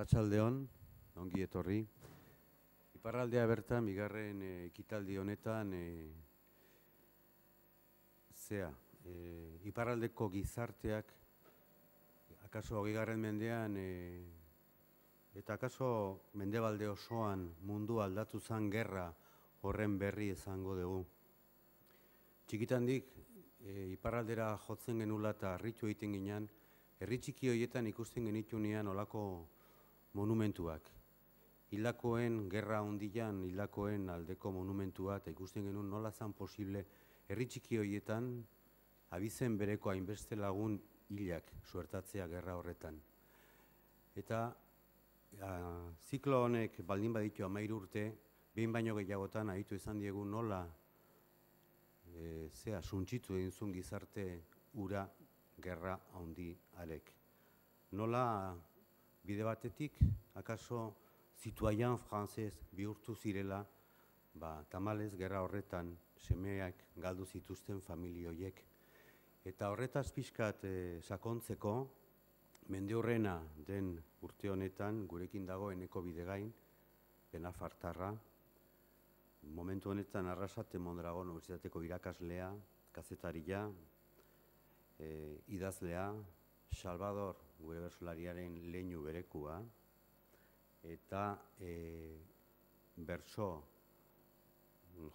Arratsaldeon, ongi etorri. Iparraldea bertan, bigarren ekitaldi honetan, iparraldeko gizarteak, akaso 20. mendean, eta akaso mendebalde osoan mundu aldatu zen gerra horren berri izango dugu. Txikitandik, iparraldera jotzen genula eta harritu egiten ginen, herri txiki horietan ikusten genitunean olako monumentuak. Hilakoen gerra hondian, hilakoen aldeko monumentua, eta ikusten genuen nola zan posible herri txiki horietan abizen bereko hainbeste lagun hilak suertatzea gerra horretan. Eta ziklo honek baldin baditu 13 urte, behin baino gehiagotan aditu izan diegu nola suntsitu egin zuen gizarte ura gerra handi arek. Nola bide batetik, akaso zituaian frantzez bihurtu zirela, tamalez gerra horretan semeak galdu zituzten familioiek. Eta horretaz pixkat sakontzeko, mende horrena den urte honetan, gurekin dago Eneko Bidegain, Benafartarra, momentu honetan Arrasate Mondragon Unibertsitateko irakaslea, kazetaria, idazlea, Salvador gure bertsolariaren leinu berekua, eta bertso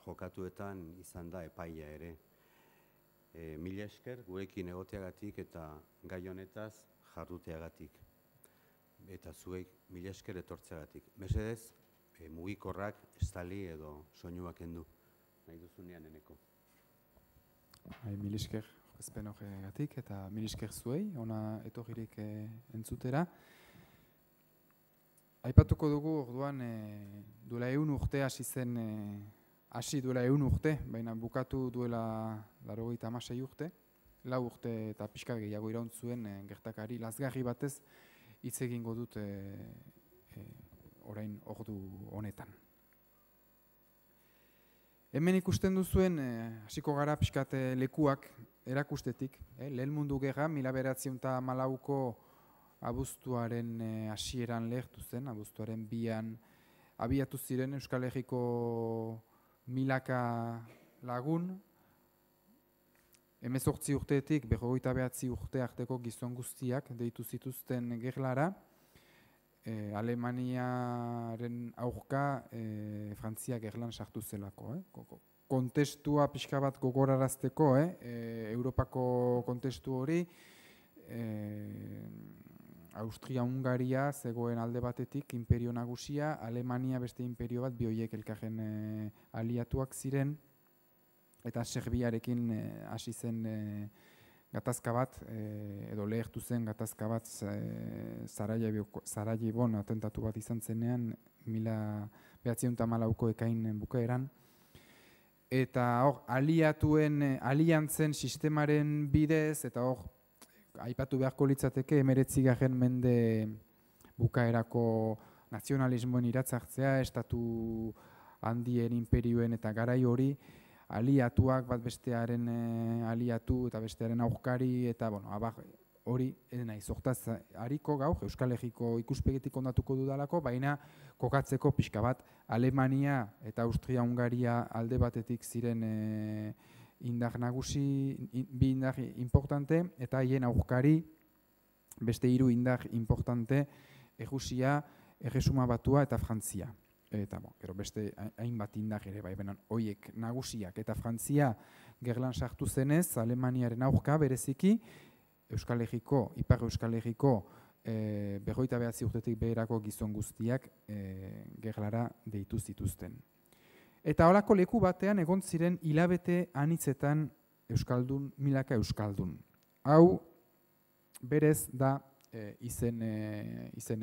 jokatuetan izan da epaia ere. Mila esker gurekin egoteagatik eta gai honetaz jarduteagatik. Eta zuek mila esker etortzeagatik. Mesedez, mugikorrak estali edo soinuak kendu. Nahi duzunean Eneko. Mila esker ezpen horregatik eta mila esker zuei, ona etorririk entzutera. Aipatuko dugu orduan duela 100 urte hasi duela 100 urte, baina bukatu duela 96 urte, 4 urte eta pixka gehiago iraun zuen gertakari lazgarri batez hitz egingo dut orain ordu honetan. Hemen ikusten duzuen hasiko gara pixkat lekuak erakustetik, Lehen Mundu Gerra 1914ko abuztuaren hasieran lehertu zen, abuztuaren 2an abiatu ziren Euskal Herriko milaka lagun, 18 urteetik 29 urte arteko gizon guztiak deitu zituzten gerlara, Alemaniaren aurka Frantzia gerlan sartu zelako. Kontestua pixka bat gogorarazteko, Europako kontestu hori, Austria-Hungaria zegoen alde batetik imperio nagusia, Alemania beste imperio bat, bi horiek elkarren aliatuak ziren, eta Serbiarekin hasi zen gatazka bat, edo lehertu zen gatazka bat Sarajevon atentatu bat izan zenean, 1914ko ekain bukaeran. Eta hor, aliantzen sistemaren bidez, eta hor, aipatu beharko litzateke 19. mende bukaerako nazionalismoen iratzartzea, estatu handien imperioen eta garai hori, aliatuak bat bestearen aliatu eta bestearen aurkari, eta hori naiz. Hortaz hariko gaur Euskal Herriko ikuspegitik ondatuko dudalako, baina kokatzeko pixka bat Alemania eta Austria-Hungaria alde batetik ziren indar nagusi, bi indar importante, eta haien aurkari beste 3 indar importante, Errusia, Erresuma Batua eta Frantzia. Eta gero beste hainbat indar ere, benan horiek nagusiak eta Frantzia gerlan sartu zenez, Alemaniaren aurka bereziki, Euskal Herriko, Ipar Euskal Herriko 29 urtetik beherako gizon guztiak gerlara deitu zituzten. Eta holako leku batean egon ziren hilabete anitzetan euskaldun, milaka euskaldun. Hau berez da izen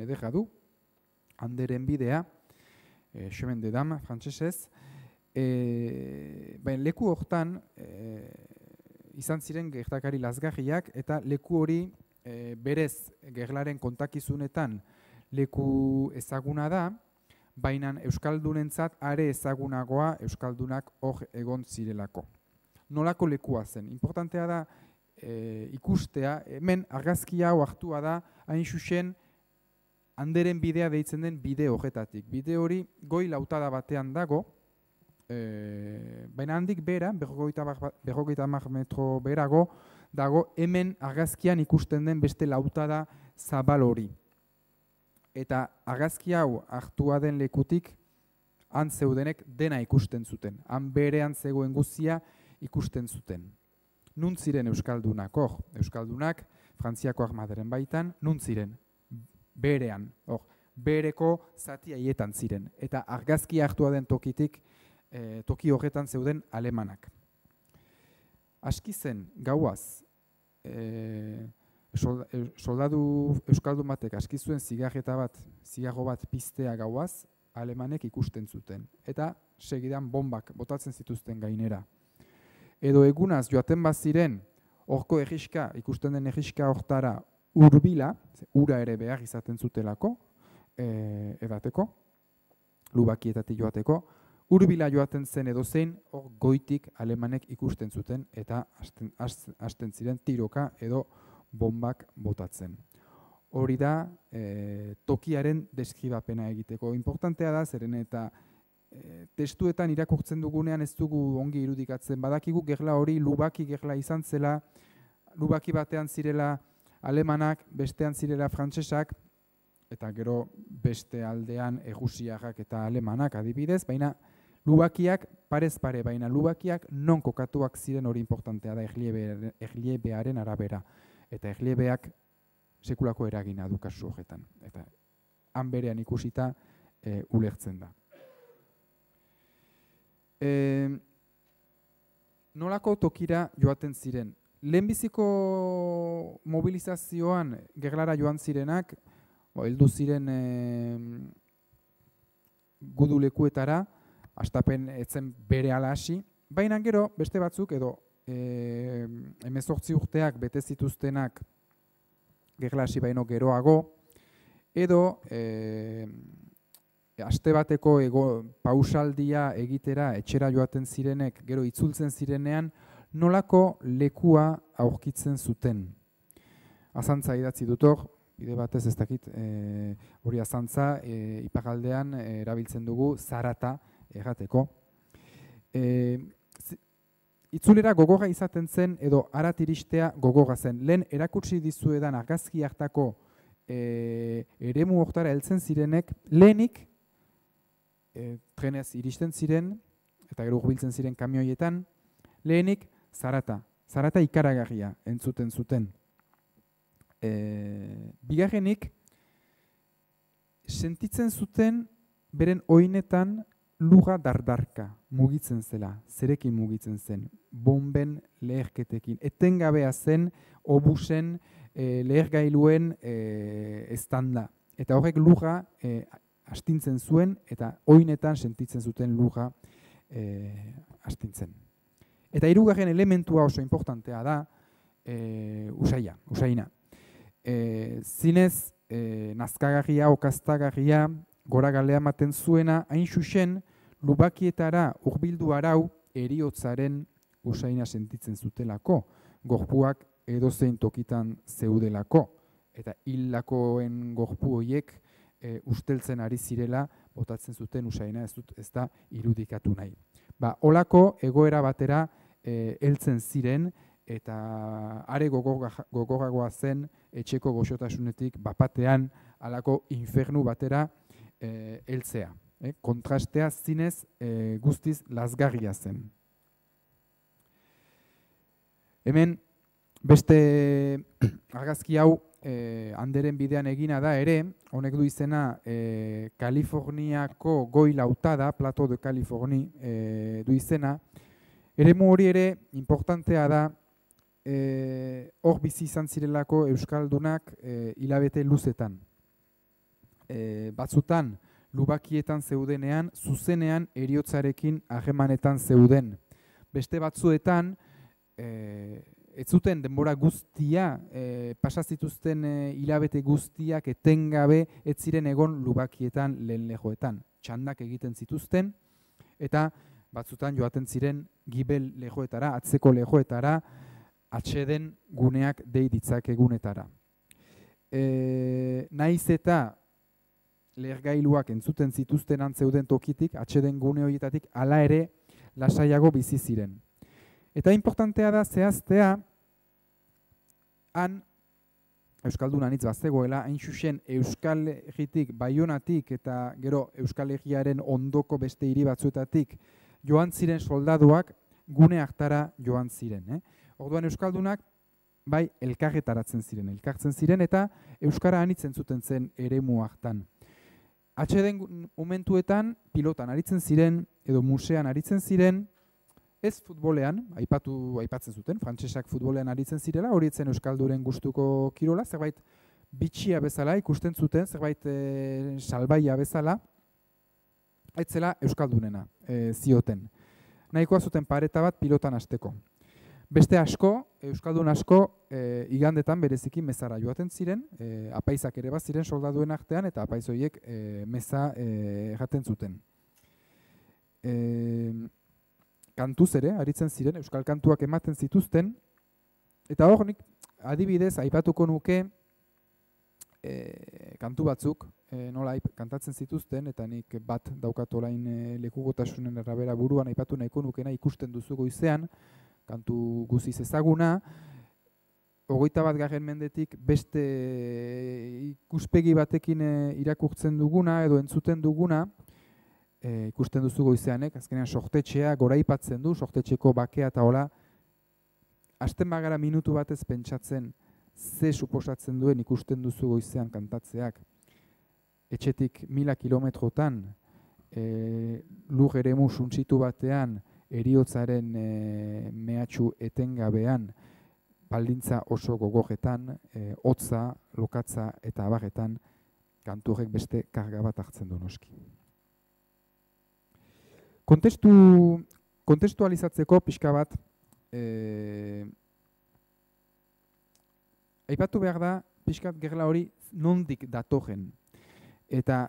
ederra du, Handeren bidea, chemin de dame frantsesez. Leku hortan izan ziren gertakari lazgarriak, eta leku hori berez gerlaren kontakizunetan leku ezaguna da, baina euskaldunentzat are ezagunagoa euskaldunak hor egon zirelako. Nolako lekua zen? Importantea da ikustea, hemen argazkia hau hartua da, hain xuxen Anderen bidea deitzen den bide horretatik. Bide hori goi lautada batean dago, baina handik bera, 50 metro berago, dago hemen argazkian ikusten den beste lautada zabal hori. Eta argazki hau hartua den lekutik, han zeudenek dena ikusten zuten. Han berean zegoen guztia ikusten zuten. Nun ziren euskaldunak, euskaldunak, Frantziako armadaren baitan, nun ziren? Berean, bereko zati haietan ziren. Eta argazki hartua den tokitik, toki horretan zeuden alemanak. Aski zen, gauaz, soldadu euskaldun batek aski zuen zigarro bat piztea gauaz, alemanek ikusten zuten. Eta segidan bombak botatzen zituzten gainera. Edo egunaz joaten baziren, horko egiska, ikusten den egiska hortara urbila, ura ere behar izaten zutelako, edateko, lubakietatik joateko, urbila joaten zen edo zein, hor goitik alemanek ikusten zuten eta hasten ziren tiroka edo bombak botatzen. Hori da tokiaren deskribapena egiteko. Importantea da, zeren eta testuetan irakurtzen dugunean ez dugu ongi irudikatzen. Badakigu gerla hori lubaki gerla izan zela, lubaki batean zirela alemanak, bestean zirela frantsesak, eta gero beste aldean egusiarrak eta alemanak adibidez, baina lubakiak parez pare, baina lubakiak non kokatuak ziren hori importantea da erliebearen arabera. Eta erliebeak sekulako eragina du kasu horretan. Eta han berean ikusita ulertzen da. Nolako tokira joaten ziren? Lehenbiziko mobilizazioan gerlara joan zirenak, heldu ziren gudulekuetara, hastapen etzen bere ala hasi, baina gero beste batzuk edo 18 urteak bete zituztenak gerla hasi baino geroago, edo aste bateko pausaldia egitera etxera joaten zirenek, gero itzultzen zirenean, nolako lekua aurkitzen zuten. Azantza idatzi dut hor, bide batez ez dakit, hori azantza iparraldean erabiltzen dugu zarata errateko. Itzulera gogorra izaten zen edo harat iristea gogorra zen. Lehen erakutsi dizuedan argazki hartako eremu hortara heltzen zirenek, lehenik trenez iristen ziren eta gero hurbiltzen ziren kamioietan, lehenik zarata ikaragarria entzuten zuten. Bigarrenik, sentitzen zuten beren oinetan lurra dardarka mugitzen zela, zerekin mugitzen zen, bomben leherketekin. Etengabea zen obusen lehergailuen estanda. Eta horrek lurra astintzen zuen eta oinetan sentitzen zuten lurra astintzen. Eta hirugarren elementua oso importantea da usaina. Zinez nazkagarria, okaztagarria, gora galea ematen zuena, hain xuxen, lubakietara hurbildu arau heriotzaren usaina sentitzen zutelako, gorpuak edozein tokitan zeudelako, eta hildakoen gorpu horiek usteltzen ari zirela botatzen zuten usaina, ez da irudikatu nahi. Holako egoera batera heltzen ziren, eta are gogorragoa zen etxeko goxotasunetik bapatean halako infernu batera heltzea. Kontrastea zinez guztiz lazgarria zen. Hemen beste argazki hau Anderen bidean egina da ere, honek du izena Kaliforniako goi lautada, Plato de Californi du izena. Eremu hori ere importantea da, hor bizi izan zirelako euskaldunak hilabete luzetan. Batzutan, lubakietan zeudenean, zuzenean eriotzarekin harremanetan zeuden. Beste batzuetan, ez zuten denbora guztia, pasazituzten hilabete guztiak etengabe ez ziren egon lubakietan lehen lehoetan. Txandak egiten zituzten, eta batzutan joaten ziren gibel lehoetara, atzeko lehoetara, atxeden guneak dei ditzakegunetara. Naiz eta lehergailuak entzuten zituzten antzeuden tokitik, atxeden gune horietatik, hala ere lasaiago bizi ziren. Eta importantea da zehaztea, han Euskaldun anitz bazegoela, hain xuxen Euskal Herritik, Baionatik eta gero Euskal Herriaren ondoko beste hiri batzuetatik joan ziren soldaduak gune hartara joan ziren. Orduan Euskaldunak bai elkarretaratzen ziren, elkartzen ziren eta Euskara anitz entzuten zen eremu hartan. Atxeden momentuetan pilotan aritzen ziren edo musean aritzen ziren, ez futbolean, aipatzen zuten, frantsesak futbolean aritzen zirela, hori etzen Euskalduren gustuko kirola, zerbait bitxia bezala ikusten zuten, zerbait salbaia bezala, aitzela Euskaldunena zioten. Nahikoa zuten pareta bat pilotan hasteko. Beste asko, Euskaldun asko, igandetan bereziki mezara joaten ziren, apaizak ere bat ziren soldaduen artean, eta apaiz horiek meza jaten zuten. Kantuz ere, aritzen ziren, euskal kantuak ematen zituzten, eta hor nik adibidez aipatuko nuke kantu batzuk nola kantatzen zituzten, eta nik bat daukat orain lekugotasunen arabera buruan aipatu nahiko nukena ikusten duzu goizean, kantu guziz ezaguna, 21. mendetik beste ikuspegi batekin irakurtzen duguna edo entzuten duguna, ikusten duzu goizeanek, azkenean sortetxea goraipatzen du, sortetxeko bakea eta hola, hasten bagara minutu batez pentsatzen ze suposatzen duen ikusten duzu goizean kantatzeak. Etxetik 1000 kilometrotan, lur eremu suntsitu batean, heriotzaren mehatxu etengabean, baldintza oso gogorretan, hotza, lokatza eta abarretan, kantu horrek beste karga bat hartzen du noski. Kontestualizatzeko pixka bat, aipatu behar da, pixkat gerla hori nondik datorren. Eta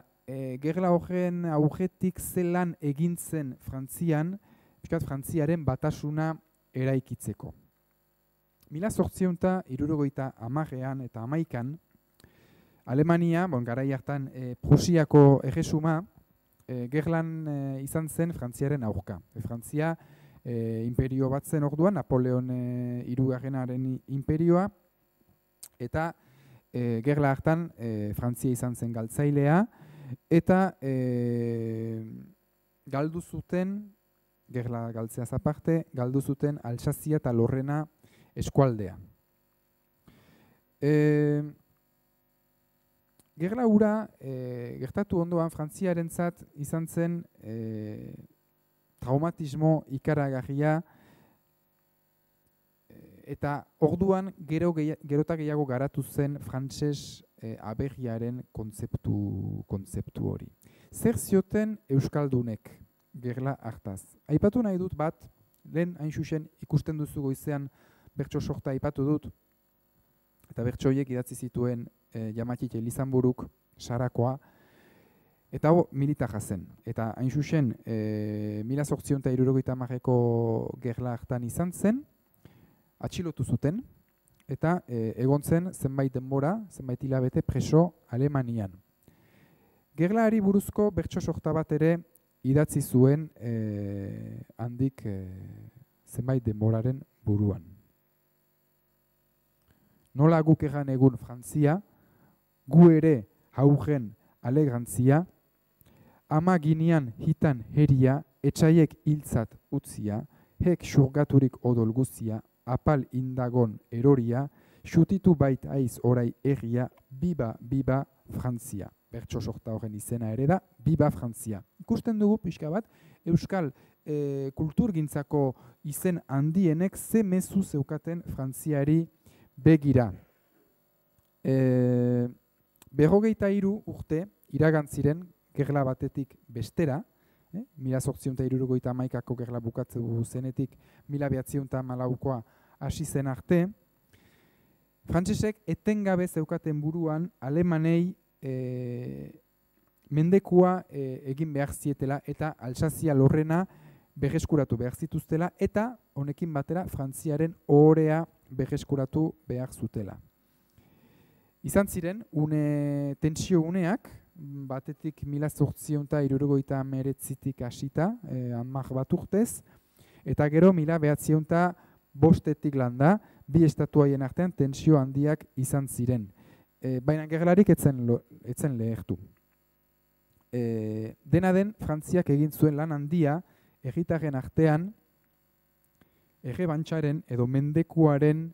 gerla horren aurretik zelan egintzen Frantzian, pixkat Frantziaren batasuna eraikitzeko. 1870an eta 11an, Alemania, garai hartan Prusiako erresuma, gerlan izan zen Frantziaren aurka. Frantzia imperio bat zen orduan, Napoleon hirugarrenaren imperioa, eta gerla hartan Frantzia izan zen galtzailea, eta galdu zuten, gerla galtzeaz aparte, galdu zuten Alsazia eta Lorrena eskualdea. Gerla hura gertatu ondoan Frantziarentzat izan zen traumatismo ikaragarria, eta orduan gerota gehiago garatu zen frantses aberriaren kontzeptu hori. Zer zioten Euskaldunek gerla hartaz? Aipatu nahi dut bat, lehen hain xuxen ikusten duzu goizean bertso sorta aipatu dut, eta bertso horiek idatzi zituen Jamatxite Elizanburuk, Sarakoa, eta hau militarra zen. Eta hain xuxen 1870ko gerla hartan izan zen, atxilotu zuten, eta egon zen zenbait denbora, zenbait hilabete preso Alemanian. Gerlaari buruzko bertso sorta bat ere idatzi zuen handik zenbait denboraren buruan. Nola guk egan egun Frantzia, gu ere haugen alegrantzia, ama ginean hitan heria, etxaiek hiltzat utzia, hek xurgaturik odol guzia, apal indagon eroria, xutitu bait aiz orai erria, biba, biba, Frantzia. Bertso sorta horren izena ere da, biba Frantzia. Ikusten dugu pixka bat, Euskal kulturgintzako izen handienek ze mezu zeukaten Frantziari begira. 53 urte iragantziren gerla batetik bestera, 1871ko gerla bukatzen zenetik 1904koa hasi zen arte, frantsesek etengabe zeukaten buruan alemanei mendekua egin behar zietela eta Alsazia Lorrena berreskuratu behar zituztela eta honekin batera Frantziaren ohorea berreskuratu behar zutela. Izan ziren, tensio uneak, batetik 1879tik hasita, 10 bat urtez, eta gero 1905 landa, bi estatu haien artean tensio handiak izan ziren. Baina gerlarik etzen lehertu. Dena den, Frantziak egin zuen lan handia, herritarren artean, errebantxaren edo mendekuaren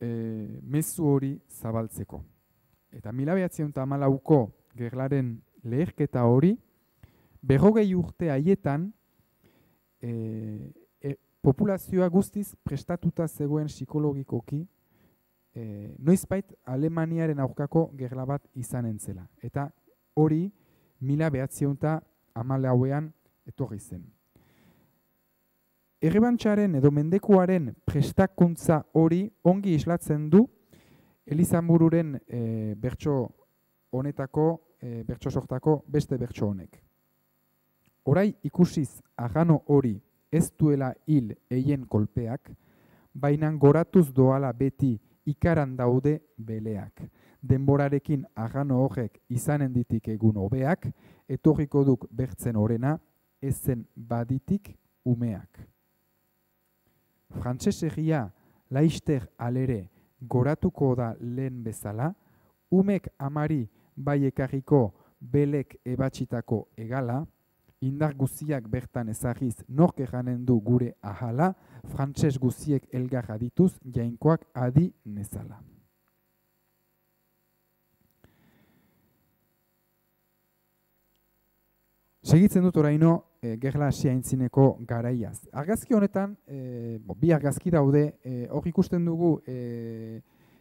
mezu hori zabaltzeko. Eta 1914ko gerlaren leherketa hori, 40 urte haietan, populazioa guztiz prestatuta zegoen psikologikoki, noizbait Alemaniaren aurkako gerla bat izanen zela. Eta hori 1914ean etorri zen. Errebantxaren edo mendekuaren prestakuntza hori ongi islatzen du Elizamururen bertso honetako, bertso sortako beste bertso honek. Orai ikusiz agano hori ez duela hil eien kolpeak, baina goratuz doala beti ikaran daude beleak. Denborarekin agano horrek izanen ditik egun hobeak, etorriko duk bertzen orena, ezen baditik umeak. Frantsesegia laister alere goratuko da lehen bezala, umek amari bai ekarriko belek ebatxitako egala, indar guziak bertan ezagiz nork eganen du gure ahala, frantses guziek elgarra dituz jainkoak adi nezala. Segitzen dut oraino gerla hasia aintzineko garaiaz. Argazki honetan, bi argazki daude, hor ikusten dugu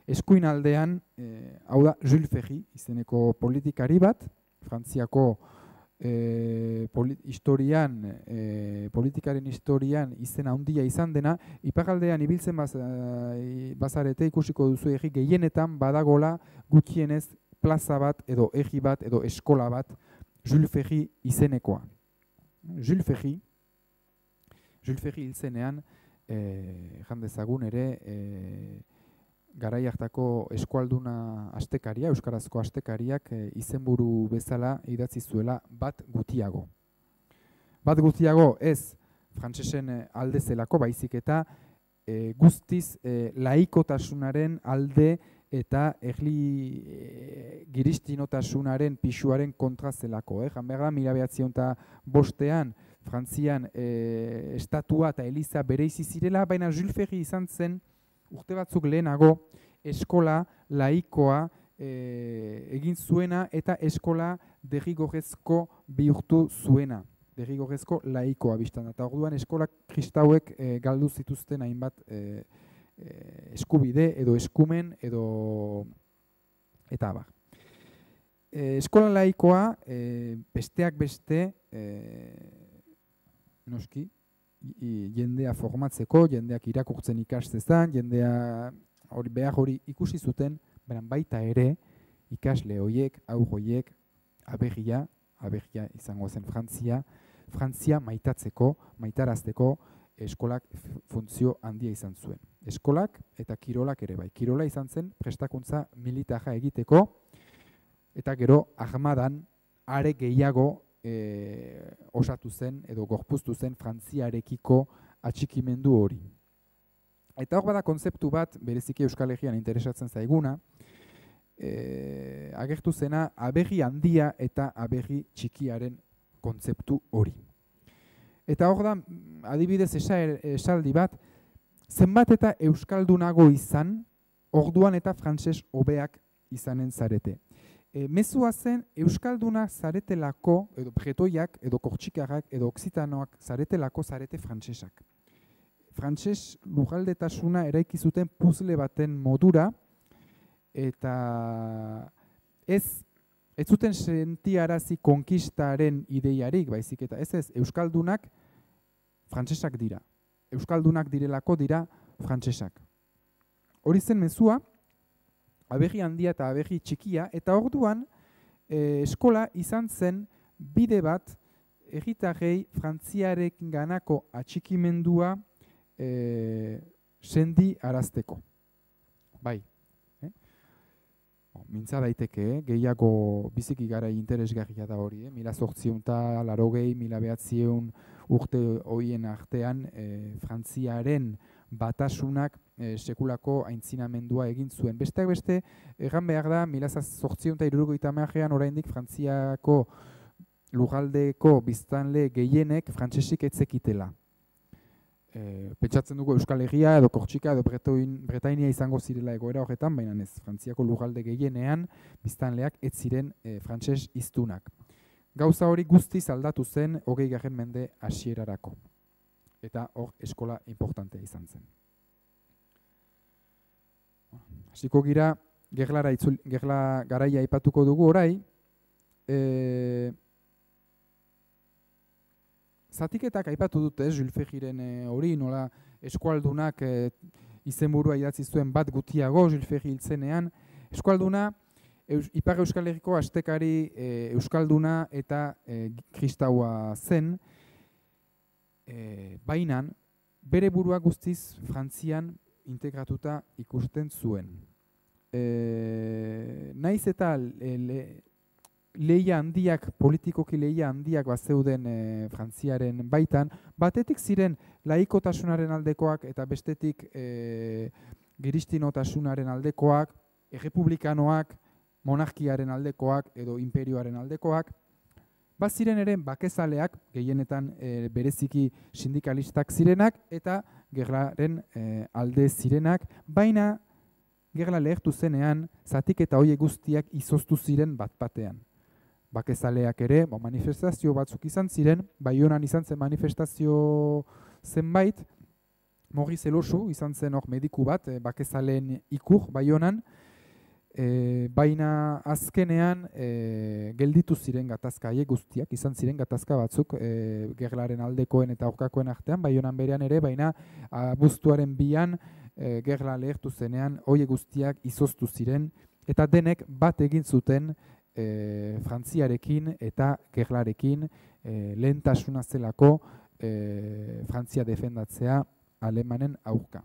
eskuin aldean, hau da Jules Ferry izeneko politikari bat, Frantziako politikaren historian izena handia izan dena, iparraldean ibiltzen bazarete ikusiko duzu herri gehienetan badagola gutxienez plaza bat edo herri bat edo eskola bat Jules Ferry izenekoa. Jules Ferry hil zenean, jan dezagun ere, garai hartako eskualduna astekaria, euskarazko astekariak izenburu bezala idatzi zuela bat gutiago. Bat gutiago ez frantsesen alde zelako, baizik eta guztiz laikotasunaren alde eta giristinotasunaren pisuaren kontra zelako. Jan behar da, 1905ean Frantzian estatua eta eliza bereizi zirela, baina Jules Ferry izan zen urte batzuk lehenago eskola laikoa egin zuena eta eskola derrigorrezko bihurtu zuena. Derrigorrezko laikoa biztan. Eta orduan eskola kristauek galdu zituzten hainbat eskubide edo eskumen edo eta abar. Eskola laikoa besteak beste noski jendea formatzeko, jendeak irakurtzen ikastezan, jendea behar hori ikusi zuten, baita ere ikasle horiek, aur horiek, aberria izango zen Frantzia maitatzeko, maitarazteko eskolak funtzio handia izan zuen. Eskolak eta kirolak ere bai. Kirola izan zen prestakuntza militarra egiteko, eta gero armadan are gehiago osatu zen edo gorpuztu zen Frantziarekiko atxikimendu hori. Eta hor bada kontzeptu bat, bereziki Euskal Herrian interesatzen zaiguna, agertu zena aberri handia eta aberri txikiaren kontzeptu hori. Eta hor da, adibidez esaldi bat, zenbat eta euskaldunago izan, orduan eta frantses hobeak izanen zarete. Mezua zen euskalduna zaretelako, edo bretoiak, edo kortxikarrak, edo oksitanoak zaretelako zarete frantsesak. Frantses lugaldetasuna eraiki zuten puzle baten modura, eta ez zuten sentiarazi konkistaren ideiarik, baizik eta ez euskaldunak frantsesak dira. Euskaldunak direlako dira frantsesak. Hori zen mezua, aberri handia eta aberri txikia, eta orduan eskola izan zen bide bat herritarrei Frantziarekin ganako atxikimendua sendi arazteko. Bai. mintza daiteke, gehiago biziki garai interesgarria da hori, 1880, 1900 urte horien artean Frantziaren batasunak sekulako aintzinamendua egin zuen. Besteak beste, egan behar da, 1870an oraindik Frantziako lurraldeko biztanle gehienek frantsesik ez zekitela. Pentsatzen dugu Euskal Herria edo Kortxika edo Bretainia izango zirela egoera horretan, baina ez, Frantziako lurralde gehienean biztanleak ez ziren frantses hiztunak. Gauza hori guztiz aldatu zen 20. mende hasierarako. Eta hor eskola importantea izan zen. Hasiko gira, gerla garaia aipatuko dugu orai. Zatiketak aipatu dute, Jules Ferryren hori, nola eskualdunak izenburua idatzi zuen bat gutiago, Jules Ferry hiltzenean. Eskualduna, Ipar Euskal Herriko astekari euskalduna eta kristaua zen, baina bere burua guztiz Frantzian integratuta ikusten zuen. Naiz eta lehia handiak, politikoki lehia handiak bazeuden Frantziaren baitan, batetik ziren laikotasunaren aldekoak eta bestetik giristinotasunaren aldekoak, errepublikanoak, monarkiaren aldekoak edo imperioaren aldekoak, baziren ere bakezaleak, gehienetan bereziki sindikalistak zirenak eta gerlaren alde zirenak, baina gerla lehertu zenean zatiketa horiek guztiak izoztu ziren bat-batean. Bakezaleak ere, manifestazio batzuk izan ziren, Baionan izan zen manifestazio zenbait, Maurice Elosu izan zen hor mediku bat, bakezaleen ikur Baionan, baina azkenean gelditu ziren gatazka haiek guztiak, izan ziren gatazka batzuk gerlaren aldekoen eta aurkakoen artean, Baionan berean ere, baina abuztuaren 2an gerla lehertu zenean horiek guztiak izoztu ziren, eta denek bat egin zuten Frantziarekin eta gerlarekin lehentasuna zelako Frantzia defendatzea Alemanen aurka.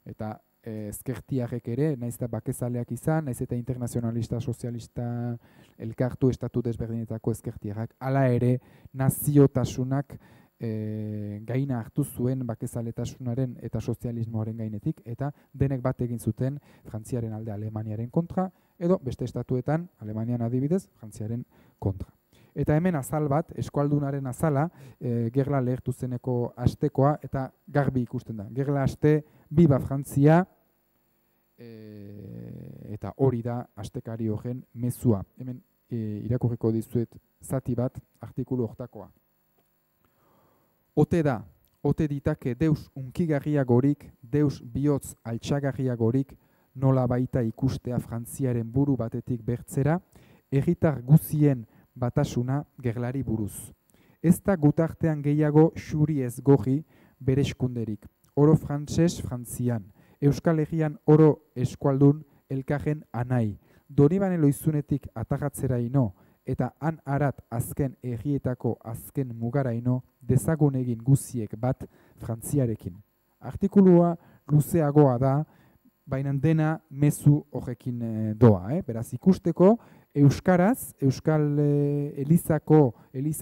Eta ezkertiarrek ere, naiz eta bakezaleak izan, naiz eta internazionalista, sozialista elkartu estatu desberdinetako ezkertiarrak, hala ere naziotasunak gaina hartu zuen bakezaletasunaren eta sozialismoaren gainetik, eta denek bat egin zuten Frantziaren alde Alemaniaren kontra, edo beste estatuetan, Alemanian adibidez, Frantziaren kontra. Eta hemen azal bat, eskualdunaren azala, gerla lehertu zeneko astekoa, eta garbi ikusten da. Gerla aste, biba Frantzia, eta hori da astekari horren mezua. Hemen irakurriko dizuet zati bat, artikulu hortakoa. Ote da, ote ditake deus unkigarriagorik, deus bihotz altxagarriagorik, nola baita ikustea Frantziaren buru batetik bertzera, herritar guzien batasuna gerlari buruz. Ez da gutartean gehiago xuri ez goji bere eskunderik. Oro frantses Frantzian, Euskal Herrian oro eskualdun elkarren anai. Donibane loizunetik atagatzera ino, eta han arat azken herrietako azken mugaraino dezagun egin guziek bat Frantziarekin. Artikulua luzeagoa da, baina dena mezu horrekin doa. Beraz ikusteko, euskaraz, Euskal Eliza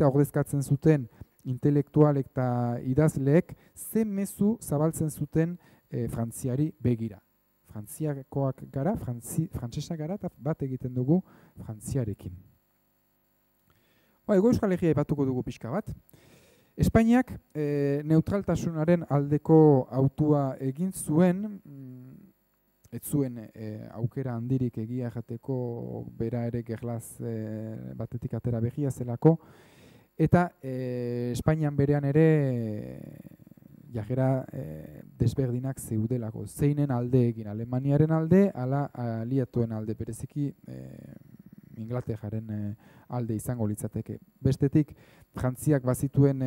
ordezkatzen zuten intelektualek eta idazleek, ze mezu zabaltzen zuten Frantziari begira. Frantziakoak gara, frantsesak gara, eta bat egiten dugu Frantziarekin. Ego Euskal Herria aipatuko dugu pixka bat. Espainiak neutraltasunaren aldeko autua egin zuen, ez zuen aukera handirik egia jateko bera ere gerlaz batetik atera begia zelako, eta Espainian berean ere jarrera desberdinak zeudelako. Zeinen alde egin, Alemaniaren alde, ala aliatuen alde, bereziki Inglaterraren alde izango litzateke. Bestetik, Frantziak bazituen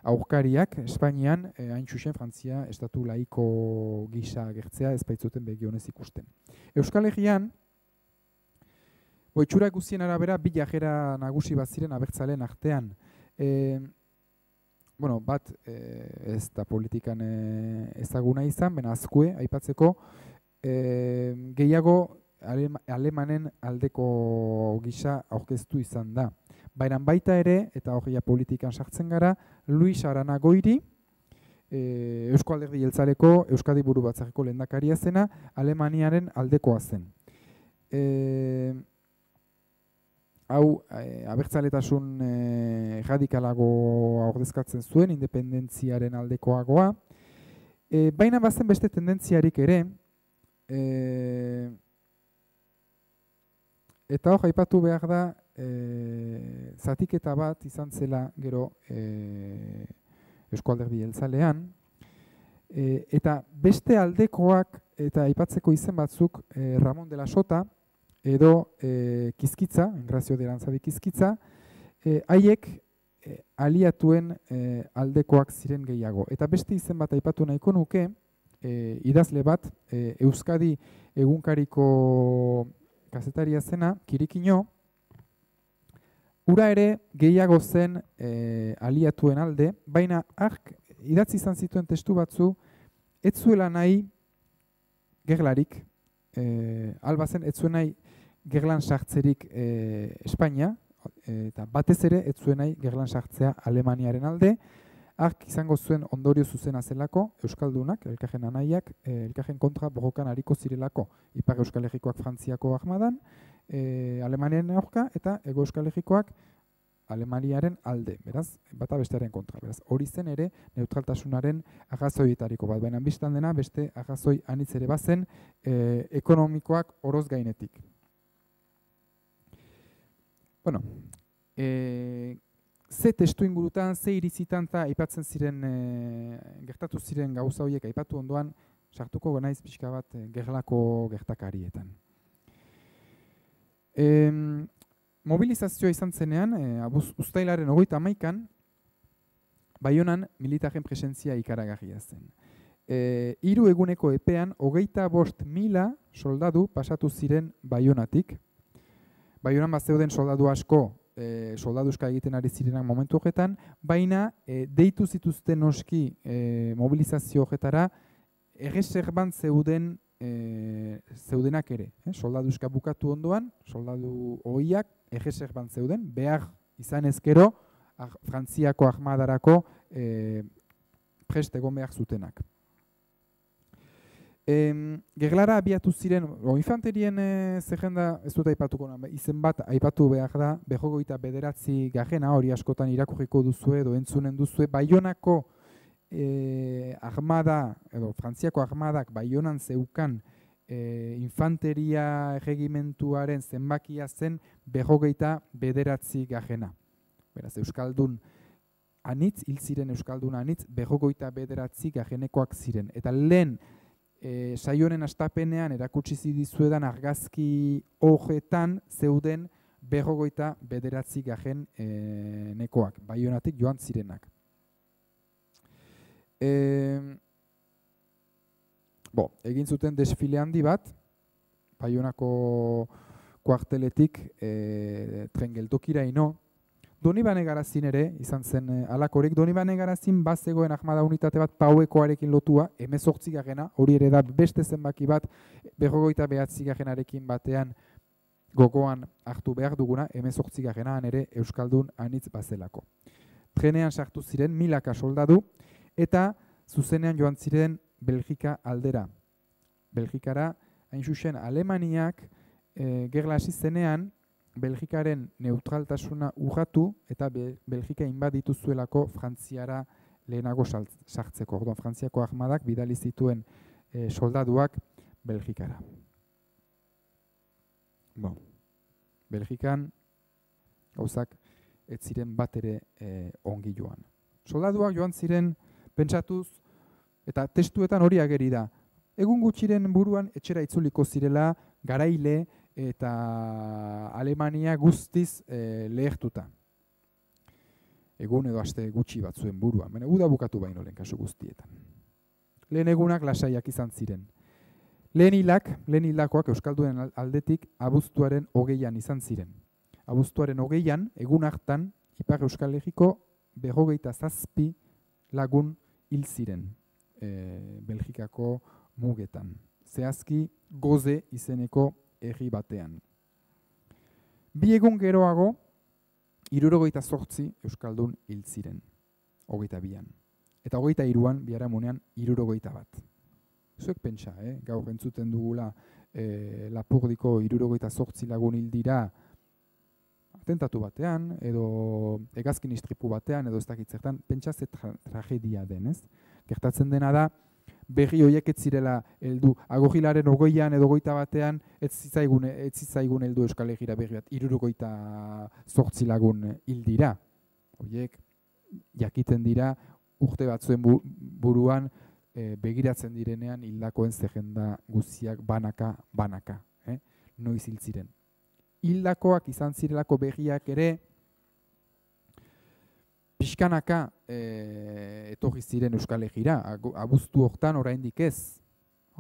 aurkariak, Espainian, hain txusen Frantzia estatu laiko gisa agertzea ez baitzuten begionez ikusten. Euskal Herrian, itxura guztien arabera, bi jarrera nagusi baziren abertzaleen artean. Bat ez da politikan ezaguna izan, baina azkue, aipatzeko, gehiago alemanen aldeko gisa aurkeztu izan da. Baina baita ere, eta hori politikan sartzen gara, Luis Aranagoiri, Eusko Alderdi Jeltzaleko Euskadi Buru Batzarreko lehendakaria zena, Alemaniaren aldekoa zen. Hau, abertzaletasun radikalago ordezkatzen zuen, independentziaren aldekoagoa. Baina bazen beste tendentziarik ere, eta hor, aipatu behar da, zatiketa bat izan zela gero Eusko Alderdi Jeltzalean, eta beste aldekoak eta aipatzeko izen batzuk Ramon de la Sota edo Kizkitza, Engrazio de Aranzadi Kizkitza, haiek aliatuen aldekoak ziren gehiago. Eta beste izen bat aipatu nahiko nuke, idazle bat, Euskadi egunkariko kazetaria zena, Kirikino, ura ere gehiago zen aliatuen alde, baina ark idatzi izan zituen testu batzu, ez zuela nahi gerlarik, albazen ez zuen nahi gerlan sartzerik Espainia, eta batez ere ez zuen nahi gerlan sartzea Alemaniaren alde, ark izango zuen ondorio zuzena zelako, Euskaldunak, elkajen anaiak, elkajen kontra borrokan hariko zirelako, Ipar Euskal Herrikoak Frantziako armadan, Alemaniaren aurka, eta Hego Euskal Herrikoak Alemaniaren alde, beraz, bata bestearen kontra. Beraz, hori zen ere neutraltasunaren arrazoietariko bat, baina bistan dena beste arrazoi anitz ere bazen ekonomikoak oroz gainetik. Bueno, ze testu ingurutan, ze irizitan eta aipatzen ziren, gertatu ziren gauza horiek aipatu ondoan, sartuko genaiz pixka bat gerlako gertakarietan. Mobilizazioa izan zenean, uztailaren 31an, Baionan militaren presentzia ikaragarria zen. 3 eguneko epean, 25.000 soldadu pasatu ziren Baionatik. Baionan bazeuden soldadu asko, soldaduska egiten ari zirenak momentu horretan, baina deitu zituzten noski mobilizazio horretara, erreserban zeudenak ere. Soldaduska bukatu ondoan, soldadu ohiak erreserban zeuden, behar izan ezkero, Frantziako armadarako prest egon behar zutenak. Gerlara abiatu ziren, infanterien zerrenda ez dut aipatuko, izen bat aipatu behar da, 29. hori askotan irakurriko duzue edo entzunen duzue, Baionako armada, edo Frantziako armadak Baionan zeukan infanteria erregimentuaren zenbakia zen 29. Beraz, Euskaldun anitz, hil ziren Euskaldun anitz, 29. ziren. Eta lehen saioaren astapenean erakutsi dizuedan argazki horretan zeuden 29. nekoak, Baionatik joan zirenak. Egin zuten desfile handi bat, Baionako kuarteletik tren geltokira ino. Donibane Garazin ere, izan zen alakorek, Donibane Garazin bazegoen armada unitate bat pauekoarekin lotua, 18. hori ere da beste zenbaki bat, 29. batean gogoan hartu behar duguna, 18. ere Euskaldun anitz bazelako. Trenean sartu ziren 1000 soldadu, eta zuzenean joan ziren Belgika aldera. Belgikara, hain zuzen, Alemaniak gerla hasi zenean, Belgikaren neutraltasuna urratu eta Belgika inbaditu zuelako Frantziara lehenago sartzeko. Orduan, Frantziako armadak bidali zituen soldaduak Belgikara. Belgikan gauzak ez ziren bat ere ongi joan. Soldaduak joan ziren pentsatuz, eta testuetan hori ageri da. Egun gutxiren buruan etxera itzuliko zirela garaile eta Alemania guztiz lehertuta. Egun edo aste gutxi batzuen buruan. Baina uda bukatu baino lehen kasu guztietan. Lehen egunak lasaiak izan ziren. Lehen hilakoak Euskalduen aldetik abuztuaren 20an izan ziren. Abuztuaren 20an, egun hartan, Ipar Euskal Herriko 27 lagun hil ziren Belgikako mugetan. Zehazki Goze izeneko herri batean. 2 egun geroago, 78 euskaldun hil ziren, 22an. Eta 23an, biharamunean, 61. Zuek pentsa, gaur entzuten dugula Lapurdiko 78 lagun hil dira atentatu batean, edo hegazkin istripu batean, edo ez dakit zertan, pentsa ze tragedia denez. Gertatzen dena da, berri horiek ez zirela heldu, agogilaren 20an edo 21an, ez zitzaigun heldu Euskal Herrira berri bat, 78 lagun hil dira. Horiek jakiten dira, urte batzuen buruan, begiratzen direnean hildakoen zerrenda guztiak banaka, noiz hil ziren. Hildakoak izan zirelako berriak ere pixkanaka etorri ziren Euskal Herrira, abuztu hortan oraindik ez,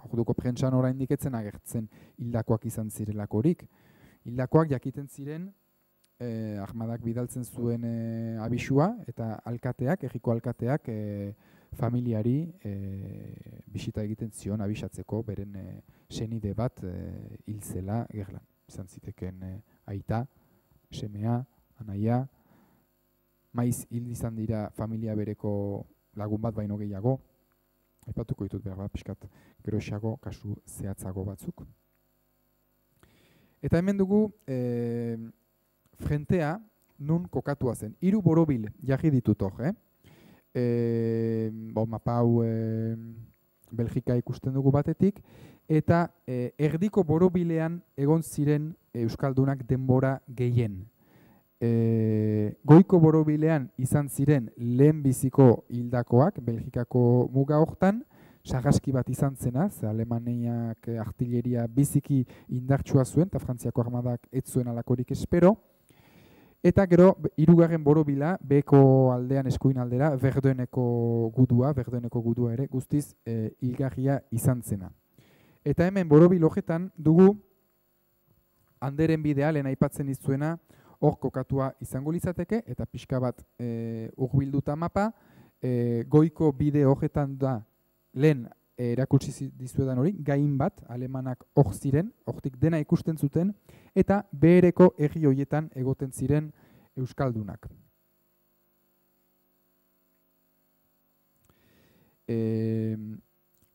orduko prentsan oraindik etzen agertzen hildakoak izan zirelakorik. Hildakoak jakiten ziren armadak bidaltzen zuen abisua eta alkateak, herriko alkateak familiari bisita egiten zion abisatzeko beren senide bat hil zela gerlan. Izan ziteken aita, semea, anaia, maiz hil izan dira familia bereko lagun bat baino gehiago, aipatuko ditut behar bat, pixkat geroxago, kasu zehatzago batzuk. Eta hemen dugu frentea nun kokatua zen. 3 borobil jarri ditut hor, mapa hau Belgika ikusten dugu batetik, eta erdiko borobilean egon ziren euskaldunak denbora gehien. Goiko borobilean izan ziren lehenbiziko hildakoak, Belgikako muga hortan, sarraski bat izan zena, ze Alemaniak artilleria biziki indartsua zuen, eta Frantziako armadak ez zuen alakorik espero. Eta gero, 3. borobila, beko aldean eskuin aldera, Verdueneko gudua ere, guztiz hilgarria izan zena. Eta hemen borobil horretan dugu Anderen bidea, lehen aipatzen izuena, hor kokatua izango litzateke, eta pixka bat hurbilduta mapa, goiko bide horretan da, lehen erakutsi dizuedan hori, gain bat, alemanak hor ziren, hortik dena ikusten zuten, eta behereko herri horietan egoten ziren euskaldunak.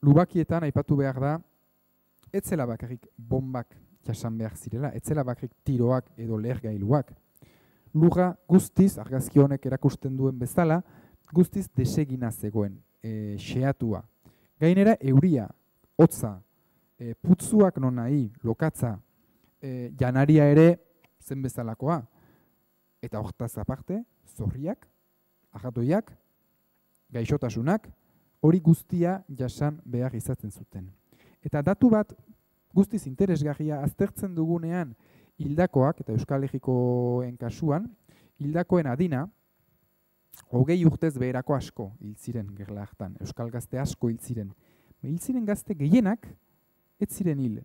Lubakietan aipatu behar da, ez zela bakarrik bombak jasan behar zirela, ez zela bakarrik tiroak edo lehergailuak. Lurra guztiz, argazki honek erakusten duen bezala, guztiz desegina zegoen, xeatua. Gainera, euria, hotza, putzuak non nahi, lokatza, janaria ere zen bezalakoa. Eta hortaz aparte, zorriak, ajatoiak, gaixotasunak, hori guztia jasan behar izaten zuten. Eta datu bat guztiz interesgarria aztertzen dugunean hildakoak, eta Euskal Herrikoen kasuan, hildakoen adina, 20 urtez beherako asko hil ziren gerla hartan, euskal gazte asko hil ziren. Hil ziren gazte gehienak, ez ziren hil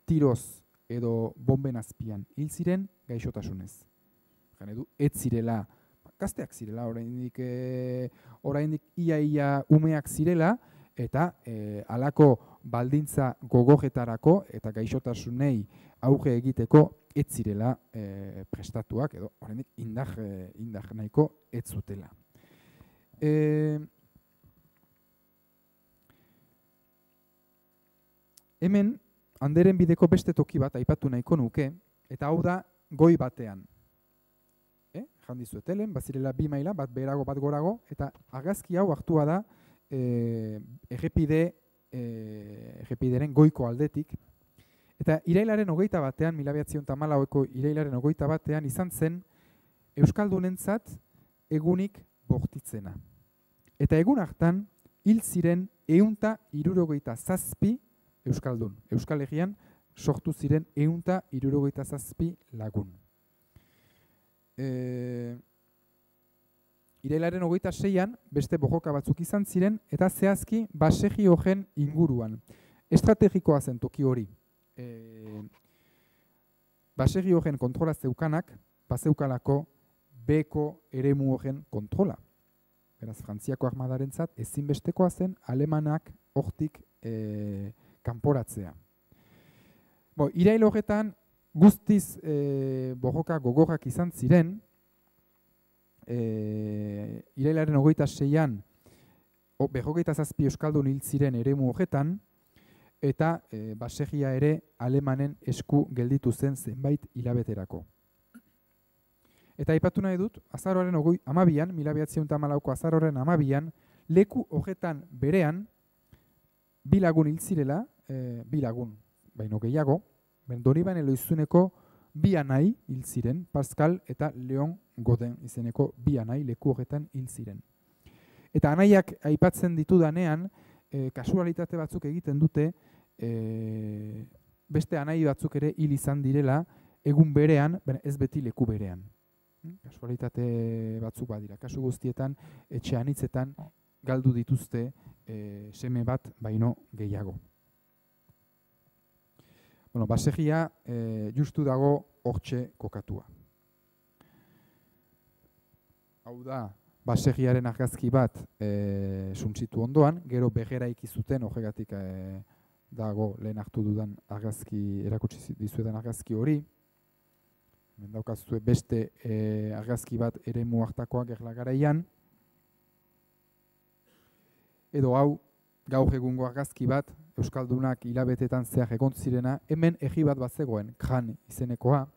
tiroz edo bomben azpian, hil ziren gaixotasunez. Ez zirela, gazteak zirela, oraindik ia umeak zirela, eta halako baldintza gogojetarako eta gaixotasunei auge egiteko ez zirela prestatuak, edo oraindik indar nahiko ez zutela. Hemen, Anderen bideko beste toki bat aipatu nahiko nuke, eta hau da goi batean. Jan dizuetelen, bazirela 2 maila, bat beherago, bat gorago, eta argazki hau hartua da errepideren goiko aldetik. Eta irailaren 21, 1914ko irailaren 21 izan zen euskaldunentzat egunik bortitzena. Eta egun hartan hil ziren 167 euskaldun. Euskal Herrian sortu ziren 167 lagun. Irailaren 26an beste bojoka batzuk izan ziren eta zehazki Basegi horren inguruan. Estrategikoa zen toki hori. Basegi horren kontrola zeukanak, bazeukalako beko eremu horren kontrola. Beraz, Frantziako armadarentzat ezinbestekoa zen alemanak hortik kanporatzea. Irail horretan guztiz borroka gogorrak izan ziren, irailaren 26an 27 euskaldun hil ziren eremu horretan, eta baserria ere alemanen esku gelditu zen zenbait hilabeterako. Eta aipatu nahi dut, azaroaren 12an, 1914ko azaroaren 12an, leku horretan berean, bi lagun hil zirela, bi lagun, baino gehiago, Donibane Loizuneko bi anai hil ziren, Pascal eta Leon Godin izeneko bi anai leku horretan hil ziren. Eta anaiak aipatzen ditudanean, kasualitate batzuk egiten dute, beste anai batzuk ere hil izan direla, egun berean, ez beti leku berean. Kasualitate batzuk badira. Kasu guztietan, etxe anitzetan galdu dituzte seme bat baino gehiago. Baserria justu dago hortxe kokatua. Hau da, baserriaren argazki bat suntsitu ondoan, gero begeraiki zuten, horregatik dago lehen hartu dudan argazki, erakutsi dizuetan argazki hori. Daukazue beste argazki bat eremu hartakoa Gerla garaian. Edo hau, gaur egungo argazki bat, Euskaldunak hilabetetan zehar egon zirena, hemen egi bat zegoen, Kran izenekoa.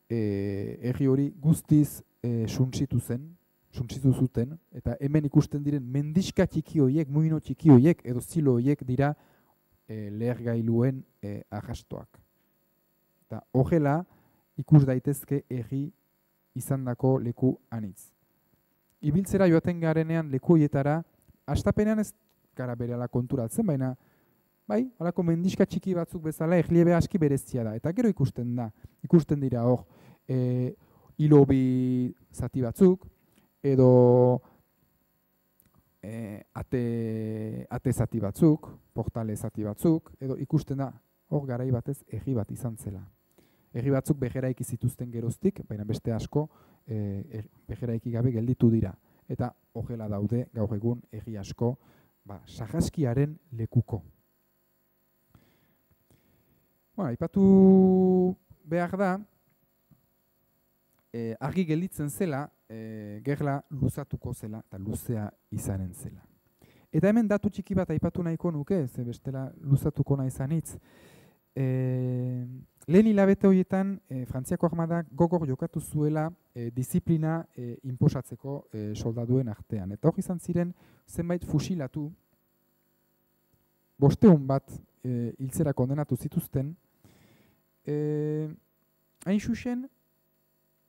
Egi hori guztiz suntsitu zuten, eta hemen ikusten diren mendiska txiki horiek, muino txiki horiek, edo zilo horiek dira lehergailuen arrastoak. Eta horrela, ikus daitezke egi izandako leku anitz. Ibiltzera joaten garenean leku horietara, hastapenean ez gara berehala konturatzen, baina bai, halako mendiska txiki batzuk bezala erliebe aski berezia da. Eta gero ikusten dira hor hilobi zati batzuk, edo ate zati batzuk, portale zati batzuk, edo ikusten da hor garai batez egi bat izan zela. Egi batzuk begeraiki zituzten geroztik, baina beste asko begeraiki gabe gelditu dira. Eta horrela daude gaur egun egi asko sarraskiaren lekuko. Aipatu behar da, argi gelditzen zela, gerla luzatuko zela, eta luzea izanen zela. Eta hemen datu txiki bat aipatu nahiko nuke, ze bestela luzatuko nahi zanitz. Lehen hilabete horietan, Frantziako armadak gogor jokatu zuela disiplina inposatzeko soldaduen artean. Eta hor izan ziren zenbait fusilatu, 500 bat hiltzera kondenatu zituzten, hain xuxen,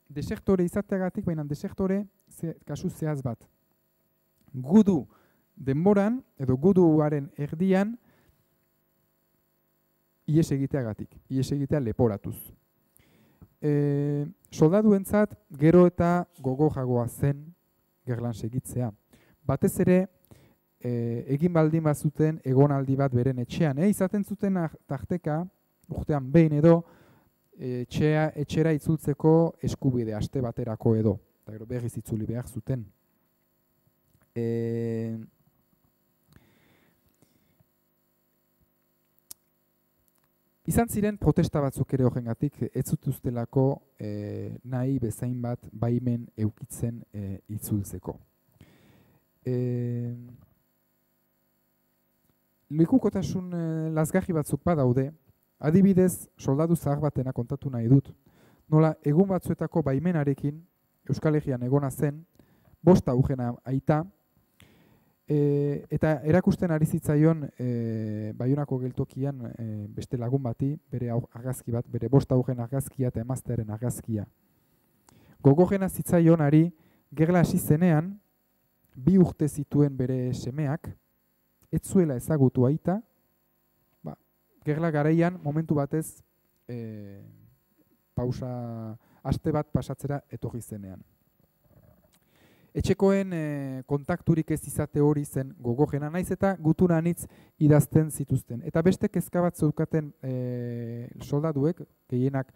desertore izateagatik, baina desertore kasu zehaz bat. Gudu denboran, edo guduaren erdian, ihes egiteagatik, ihes egitea leporatuz. Soldaduentzat gero eta gogojagoa zen gerlan segitzea. Batez ere, egin baldin bazuten egonaldi bat beren etxean. Izaten zuten tarteka, urtean behin edo, etxera itzultzeko eskubide, aste baterako edo. Eta gero berriz itzuli behar zuten. Izan ziren protesta batzuk ere horrengatik, ez zutuztelako nahi bezain bat baimen eukitzen itzultzeko. Lekukotasun lazgarri batzuk badaude, adibidez soldadu zahar batena kontatu nahi dut. Nola, egun batzuetako baimenarekin, Euskal Herrian egona zen, 5 augena aita, eta erakusten ari zitzaion Baionako geltokian beste lagun bati, bere argazki bat, bere 5 augen argazkia eta emaztearen argazkia. Gogorrena zitzaionari gerla hasi zenean, 2 urte zituen bere semeak, ez zuela ezagutu aita, gerla garaian momentu batez aste bat pasatzera etorri zenean. Etxekoen kontakturik ez izate hori zen gogorrena, naiz eta gutuna anitz idazten zituzten. Eta beste kezka bat zeukaten soldaduek, gehienak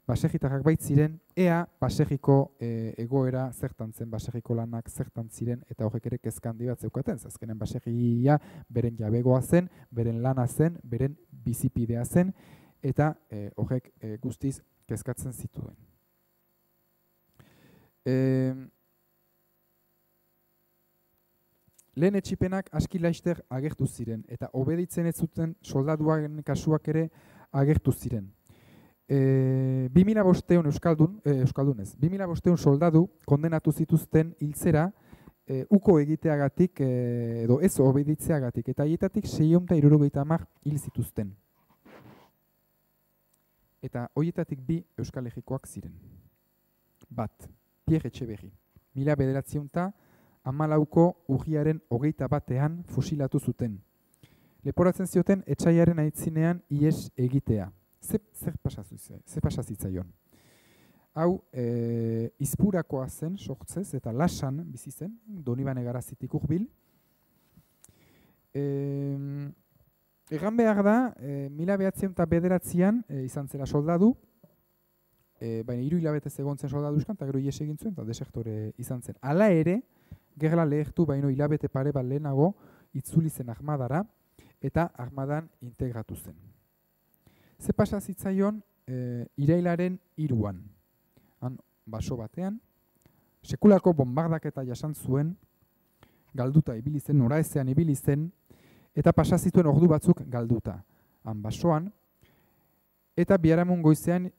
baserritarrak baitziren, ea baserriko egoera zertan zen, baserriko lanak zertan ziren, eta horrek ere kezka handi bat zeukaten. Azkenen baserria beren jabegoa zen, beren lana zen, beren bizipidea zen, eta horrek guztiz kezkatzen zituen. Lehen etsipenak aski laster agertu ziren, eta obeditzen ez zuten soldaduaren kasuak ere agertu ziren. 2500 euskaldunez, 2500 soldadu kondenatu zituzten hiltzera uko egiteagatik edo ez obeditzeagatik, eta haietatik 670 hil zituzten. Eta horietatik 2 Euskal Herrikoak ziren. Bat, Pierre Etxeberri. 1914ko urriaren 21 fusilatu zuten. Leporatzen zioten etsaiaren aitzinean ihes egitea. Zer pasazitzaion? Hau, izpurakoa zen, sortzez, eta lasan bizi zen, Donibane Garazitik hurbil. Egan behar da, 1909an izan zela soldadu, baina 3 hilabete egontzen soldaduzkan, eta gero ihes egin zuen, eta desektore izan zen. Hala ere, gerla lehertu baino hilabete pare bat lehenago, itzuli zen armadara, eta armadan integratu zen. Ze pasa zitzaion irailaren 3an. Han, baso batean, sekulako bombardaketa jasan zuen, galduta ibili zen, noraezean ibili zen, eta pasa zituen ordu batzuk galduta. Han, basoan, eta biharamun goizean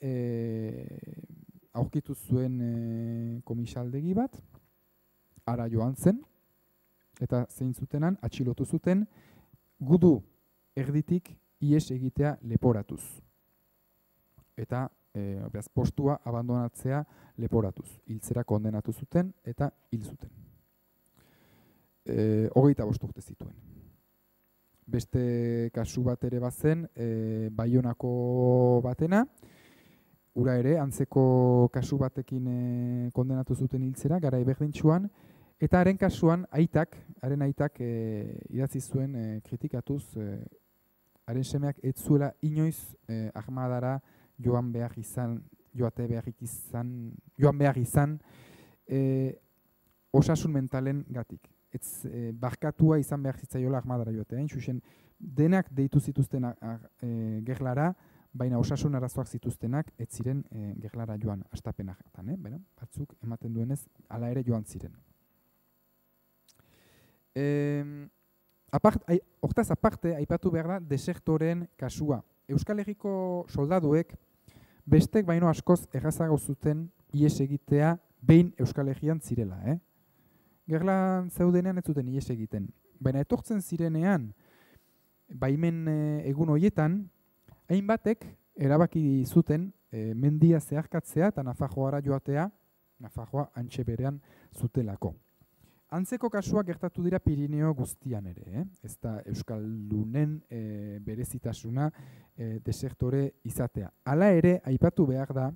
aurkitu zuen komisaldegi bat, ara joan zen, eta zein zutenan, atxilotu zuten, gudu erditik ihes egitea leporatuz. Eta postua abandonatzea leporatuz. Hiltzera kondenatu zuten eta hil zuten. 25 urte zituen. Beste kasu bat ere bazen, Baionako batena, ura ere, antzeko kasu batekin kondenatu zuten hiltzera, garai berdintsuan, eta haren kasuan haren aitak idatzi zuen kritikatuz, haren semeak ez zuela inoiz armadara joan behar izan osasun mentalen gatik. Barkatua izan behar zitzaiola armadara joatea. Xuxen, denak deitu zituzten gerlara, baina osasun arazoak zituztenak ez ziren gerlara joan astapenak. Batzuk ematen duenez, hala ere joan ziren. Hortaz aparte, aipatu behar da desertoren kasua. Euskal Herriko soldaduek bestek baino askoz errazago zuten ihes egitea behin Euskal Herrian zirela. Gerlan zeudenean ez zuten ihes egiten. Baina etortzen zirenean, baimen egun horietan, hainbatek erabaki zuten mendia zeharkatzea eta Nafarroara joatea, Nafarroa antxe berean zutelako. Antzeko kasuak gertatu dira Pirineo guztian ere, ez da Euskaldunen berezitasuna desertore izatea. Hala ere, aipatu behar da,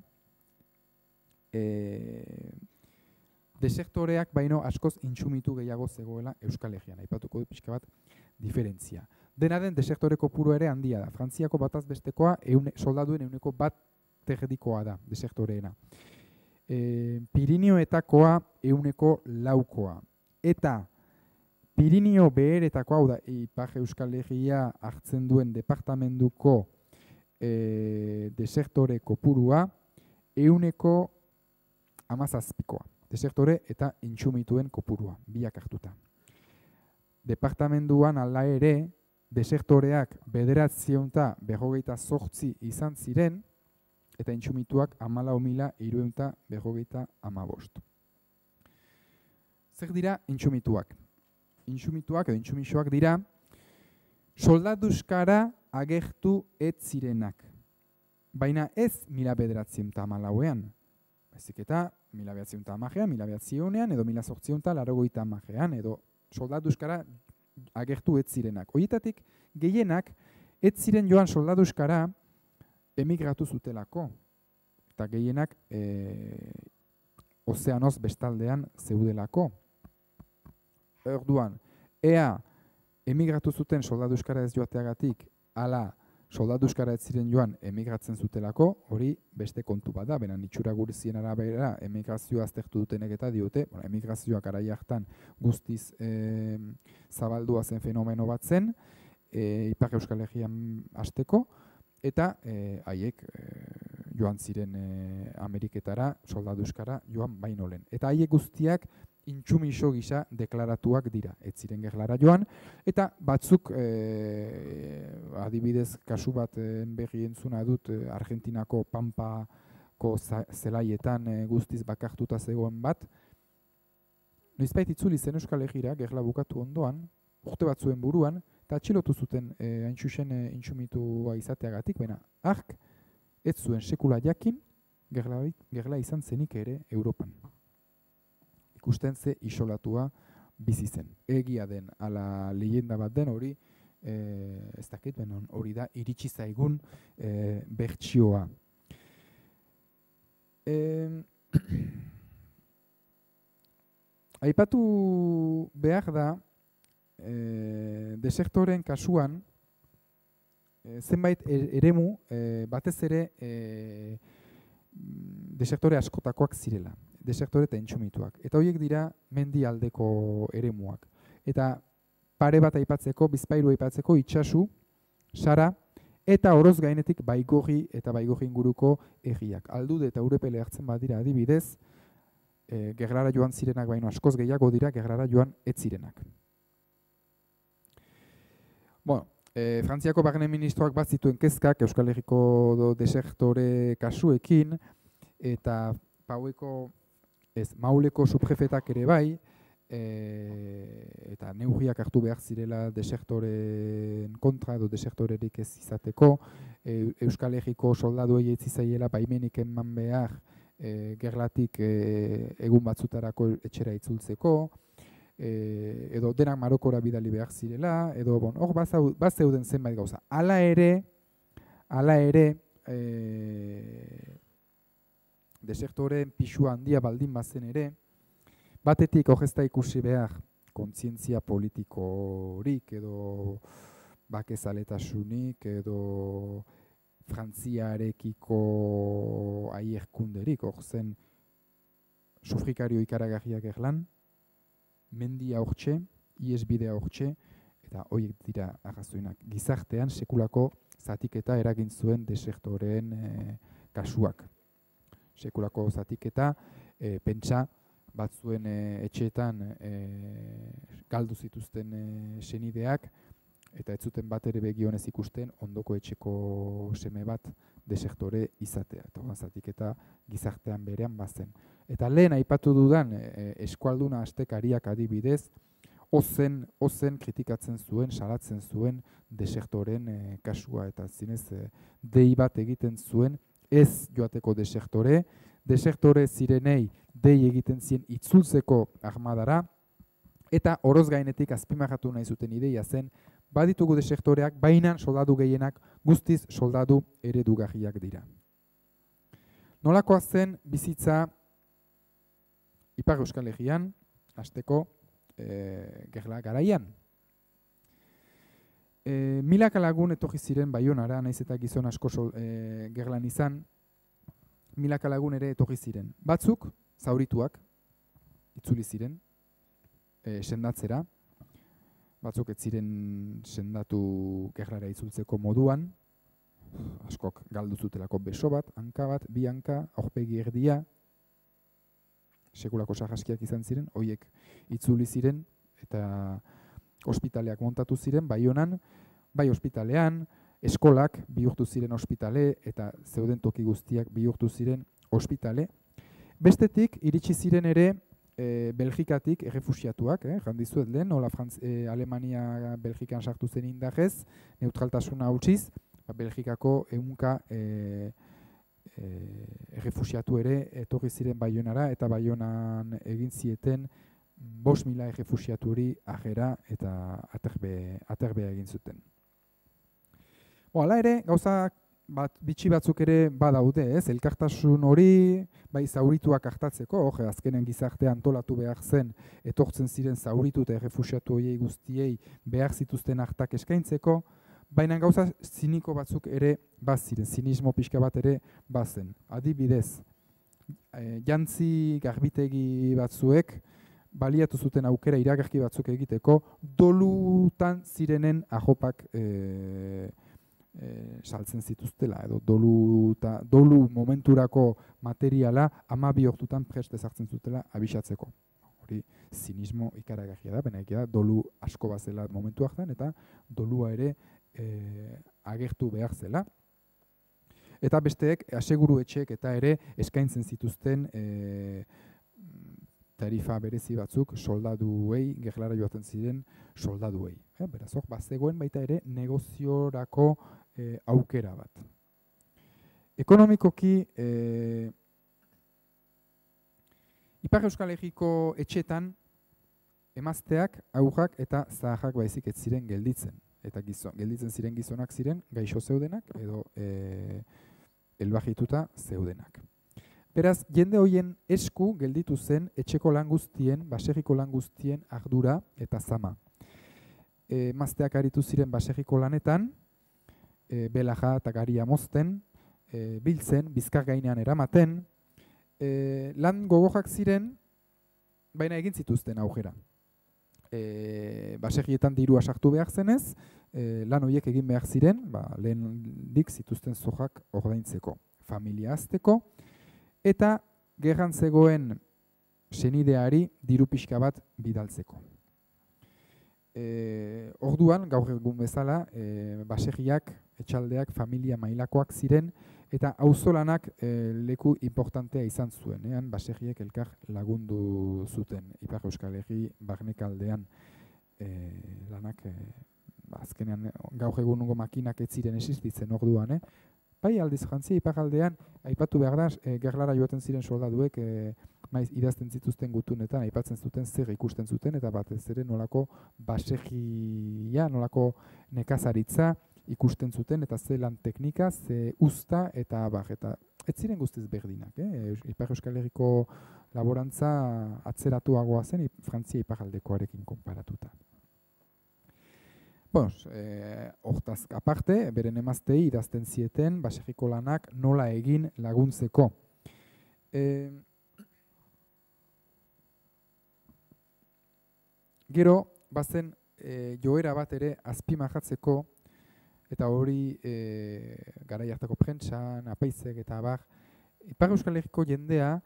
desertoreak baino askoz intsumitu gehiago zegoela Euskal Herrian. Aipatuko dut pixka bat diferentzia. Dena den, desertore kopuru ere handia da. Frantziako bataz bestekoa soldaduen 1% da, desertoreena. Pirineoetakoa 104%. Eta Pirineo beheretakoa, hau da, Ipar Euskal Herria hartzen duen departamentuko desertore kopurua 117%. Desertore eta intsumituen kopurua, biak hartuta. Departamentuan ala ere, desertoreak 958 izan ziren, eta intsumituak 14.355. Zer dira intsumituak? Intsumituak edo intsumixoak dira soldaduzkara agertu ez zirenak. Baina ez 1914an. Baizik eta 1910an, 1900an edo 1880an edo soldaduzkara agertu ez zirenak. Horietatik gehienak ez ziren joan soldaduzkara emigratu zutelako. Eta gehienak ozeanoz bestaldean zeudelako. Orduan, ea emigratu zuten soldaduzkara ez joateagatik, ala soldaduzkara ez ziren joan emigratzen zutelako, hori beste kontu bat da, benan itxura gurzien arabera emigrazioa aztertu dutenek eta diote, emigrazioak arai hartan guztiz zabaldua zen fenomeno bat zen, Ipar Euskal Herrian hasteko, eta haiek joan ziren Ameriketara, soldadu euskara joan baino lehen. Eta haiek guztiak intsumiso gisa deklaratuak dira, ez ziren gerlara joan, eta batzuk, adibidez, kasu bat berri entzuna dut, Argentinako Pampako zelaietan guztiz bakartuta zegoen bat, noizbait itzuli zen Euskal Herrira, gerla bukatu ondoan, urte batzuen buruan, eta atxilotu zuten hain zuzen intsumitua izateagatik, baina ark ez zuen sekula jakin gerla izan zenik ere Europan. Ikusten ze isolatua bizi zen. Egia den, ala leyenda bat den hori, ez dakit, hori da iritsi zaigun bertsioa. Aipatu behar da, desertoren kasuan, zenbait eremu, batez ere desektore askotakoak zirela, desektore eta intsumituak. Eta horiek dira mendi aldeko eremuak. Eta pare bat aipatzeko, Bizpairu aipatzeko, Itsasu, Sara, eta oroz gainetik Baigorri eta Baigorri inguruko herriak. Aldude eta Urepele hartzen badira adibidez, gerlara joan zirenak baino askoz gehiago dira, gerlara joan ez zirenak. Bueno, Frantziako barne ministroak bat zituen kezkak Euskal Herriko desektore kasuekin, eta Mauleko subjefetak ere bai, eta neurriak hartu behar zirela desektoren kontra edo desektorerik ez izateko, Euskal Herriko soldaduei ez zaiela baimenik eman behar gerlatik egun batzutarako etxera itzultzeko, edo denak Marokora bidali behar zirela, edo hor bazeuden zenbait gauza. Hala ere, desektoren pisua handia baldin bazen ere, batetik hor ez da ikusi behar kontzientzia politikorik, edo bakezaletasunik, edo Frantziarekiko aierkunderik, hor zen sufrikario ikaragarriak erlan, mendia hortxe, iesbidea hortxe, eta horiek dira arrazoinak. Gizartean sekulako zatiketa eragin zuen desektoreen kasuak. Sekulako zatiketa, pentsa batzuen etxeetan galdu zituzten senideak, eta ez zuten bat ere begionez ikusten ondoko etxeko seme bat desektore izatea. Eta zatiketa gizartean berean bazen. Eta lehen aipatu dudan eskualduna astekariak adibidez, ozen kritikatzen zuen, salatzen zuen desektoren kasua, eta zinez dei bat egiten zuen ez joateko desektore zirenei dei egiten zien itzultzeko armadara, eta oroz gainetik azpimarratu nahi zuten ideia zen, baditugu desektoreak, baina soldadu gehienak guztiz soldadu eredugarriak dira. Nolakoa zen bizitza Ipar Euskal Herrian, hasteko gerla garaian. Milaka lagun etorri ziren Baionara, naiz eta gizon asko gerlan izan, milaka lagun ere etorri ziren. Batzuk, zaurituak, itzuli ziren, sendatzera, batzuk ez ziren sendatu gerlara itzultzeko moduan, askok galdu zutelako beso bat, hanka bat, bi hanka, aurpegi erdia, sekulako sarraskiak izan ziren, horiek itzuli ziren, eta ospitaleak montatu ziren, Baionan, bai ospitalean, eskolak bihurtu ziren ospitale, eta zeuden toki guztiak bihurtu ziren ospitale. Bestetik, iritsi ziren ere Belgikatik errefusiatuak, jandizuet lehen, nola Alemania Belgikan sartu zen indarrez, neutraltasuna hautsiz, Belgikako ehunka errefusiatu ere etorri ziren Baionara, eta Baionan egin zieten 5.000 errefusiaturi agera eta aterbea egin zuten. Hala ere, gauza bitxi batzuk ere badaude, elkartasun hori, bai zaurituak hartatzeko, azkenen gizartea antolatu behar zen, etortzen ziren zauritu eta errefusiatu horiei guztiei behar zituzten hartak eskaintzeko, baina gauza ziniko batzuk ere baziren, zinismo pixka bat ere bazen. Adibidez, jantzi garbitegi batzuek baliatu zuten aukera iragarki batzuk egiteko, dolutan zirenen ahopak saltzen zituztela, edo dolu momenturako materiala 12 ordutan prest ezartzen zutela abisatzeko. Hori zinismo ikaragarria da, baina da dolu asko bazela momentu hartan, eta dolua ere agertu behar zela. Eta besteek, aseguru etxeek eta ere eskaintzen zituzten tarifa berezi batzuk soldaduei, gerlara joaten ziren soldaduei. Beraz, bazegoen baita ere negoziorako aukera bat. Ekonomikoki, Ipar Euskal Herriko etxetan emazteak, aurrak eta zaharrak baizik ez ziren gelditzen. Eta gelditzen ziren gizonak ziren gaixo zeudenak edo elbajituta zeudenak. Beraz, jende hoien esku gelditu zen etxeko lan guztien, baserriko lan guztien ardura eta zama. Emazteak aritu ziren baserriko lanetan, belaja eta garia mozten, biltzen, bizkar gainean eramaten, lan gogojak ziren, baina egin zituzten aurrera. Baserrietan dirua sartu behar zenez, lan horiek egin behar ziren, lehendik zituzten zojak ordaintzeko, familia azteko, eta gerran zegoen senideari diru pixka bat bidaltzeko. Orduan, gaur egun bezala, baserriak, etxaldeak, familia mailakoak ziren, eta auzolanak leku importantea izan zuen. Baserriek elkar lagundu zuten. Ipar Euskal Herri barnekaldean lanak, azkenean gaur egungo makinak ez ziren existitzen orduan. Bai, aldiz jantzia iparraldean, aipatu behar da, gerlara joaten ziren soldaduek, maiz idazten zituzten gutunetan, aipatzen zuten zer ikusten zuten, eta batez ere nolako baserria, nolako nekazaritza ikusten zuten, eta ze lan teknika, ze usta, eta ez ziren guztiz berdinak. Ipar Euskal Herriko laborantza atzeratuagoa zen, Frantzia iparraldekoarekin konparatuta. Hortaz aparte, beren emaztei idazten zieten baserriko lanak nola egin laguntzeko. Gero, bazen joera bat ere azpimarratzeko, eta hori garai hartako prentsan, apaizek eta abar, Ipar Euskal Herriko jendea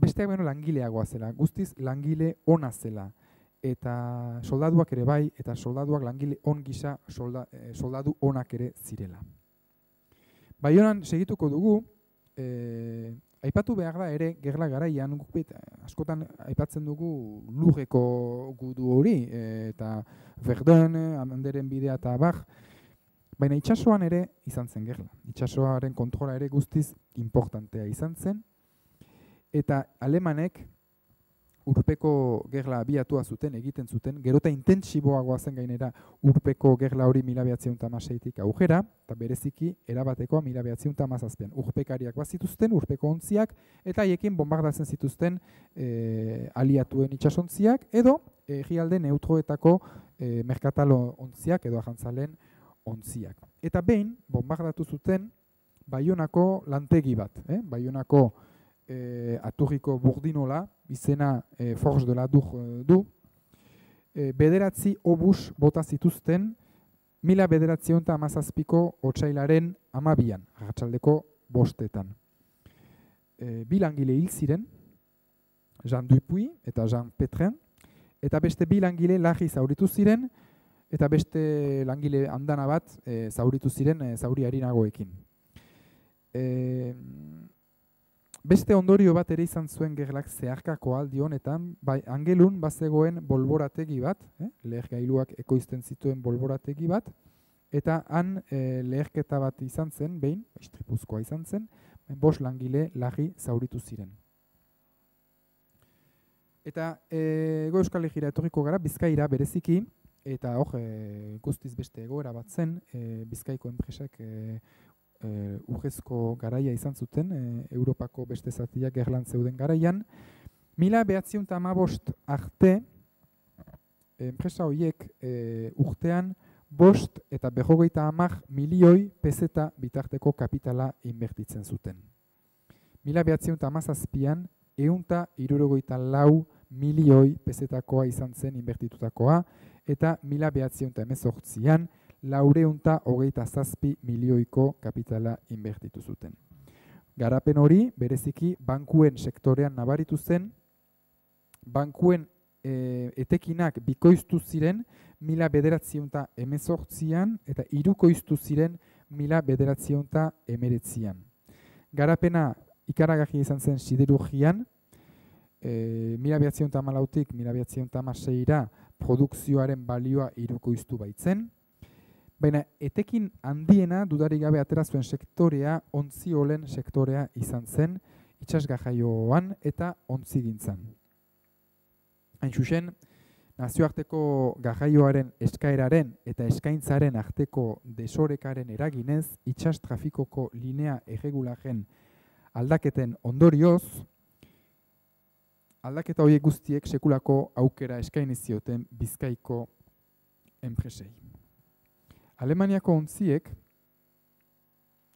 besteak beno langileagoa zela, guztiz langile ona zela. Eta soldaduak ere bai, eta soldaduak langile on gisa soldadu onak ere zirela. Baionan segituko dugu, aipatu behar da ere, gerla garaian, askotan aipatzen dugu lurreko gudu hori, eta Verdun, Amanderen bidea eta abar, baina itsasoan ere izan zen gerla. Itsasoaren kontrola ere guztiz importantea izan zen, eta alemanek urpeko gerla abiatua zuten, egiten zuten, gerota intentsiboagoa zen gainera urpeko gerla hori 1916tik aurrera, eta bereziki erabatekoa 1917an. Urpekariak bazituzten, urpeko ontziak, eta haiekin bombardatzen zituzten aliatuen itsasontziak, edo herrialde neutroetako merkatalo ontziak, edo ajantzalen ontziak. Eta behin, bombardatu zuten Baionako lantegi bat, Baionako aturriko burdinola, izena Forge de la Dur du, bederatzi obus bota zituzten 1917ko otsailaren 12an, arratsaldeko 5etan. Bi langile hil ziren, Jean Dupuy eta Jean Petrin, eta beste bi langile larri zauritu ziren, eta beste langile andana bat zauritu ziren zauri harinagoekin. Beste ondorio bat ere izan zuen gerlak zeharkako aldi honetan, Angelun bazegoen bolborategi bat, lehergailuak ekoizten zituen bolborategi bat, eta han leherketa bat izan zen, behin, istripuzkoa izan zen, 5 langile larri zauritu ziren. Eta Hego Euskal Herrira etorriko gara, Bizkaira bereziki, eta guztiz beste egoera bat zen, Bizkaiko enpresak urrezko garaia izan zuten, Europako beste zatiak gerlan zeuden garaian. 1915 arte, enpresa horiek urtean 5 eta 50 milioi peseta bitarteko kapitala inbertitzen zuten. 1917an 164 milioi pesetakoa izan zen inbertitutakoa, eta 1918an 427 milioiko kapitala inbertitu zuten. Garapen hori, bereziki, bankuen sektorean nabaritu zen, bankuen etekinak bikoiztu ziren 1918an eta hirukoiztu ziren 1919an. Garapena ikaragarria izan zen siderurgian, 1914tik 1916ra produkzioaren balioa hirukoiztu baitzen, baina etekin handiena dudarik gabe atera zuen sektorea ontziolen sektorea izan zen, itsasgarraioan eta ontzigintzan. Hain zuzen, nazioarteko garraioaren eskaeraren eta eskaintzaren arteko desorekaren eraginez, itsas trafikoko linea erregularen aldaketen ondorioz, aldaketa horiek guztiek sekulako aukera eskaini zioten Bizkaiko enpresei. Alemaniako ontziek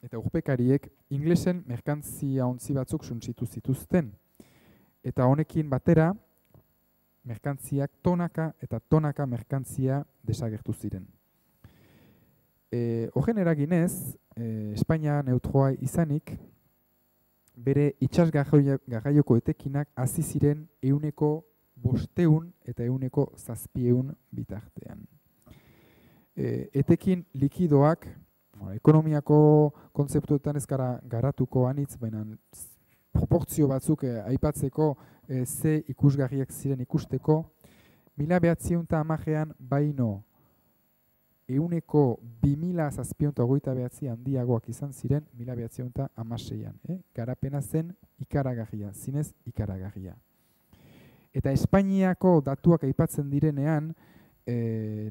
eta urpekariek inglesen merkantzia ontzi batzuk suntzitu zituzten, eta honekin batera merkantziak tonaka eta tonaka merkantzia desagertu ziren. Horren eraginez, Espainia neutroa izanik, bere itsas garraioko etekinak hasi ziren 500 eta 700 bitartean. Etekin likidoak, ekonomiako kontzeptuetan ez gara garatuko anitz, baina proportzio batzuk aipatzeko ze ikusgarriak ziren ikusteko, 1910an baino 2029 handiagoak izan ziren 1916an. Garapena zen ikaragarria, zinez ikaragarria. Eta Espainiako datuak aipatzen direnean,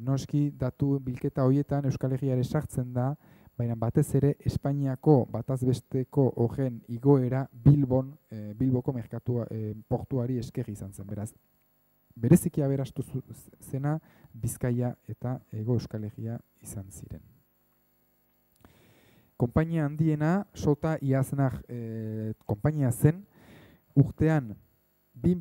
noski datu bilketa horietan Euskal Herria ere sartzen da, baina batez ere Espainiako batazbesteko horren igoera Bilboko portuari esker izan zen. Beraz, bereziki aberastu zena Bizkaia eta Hego Euskal Herria izan ziren. Konpainia handiena, Sota Iaznar konpainia zen, urtean 2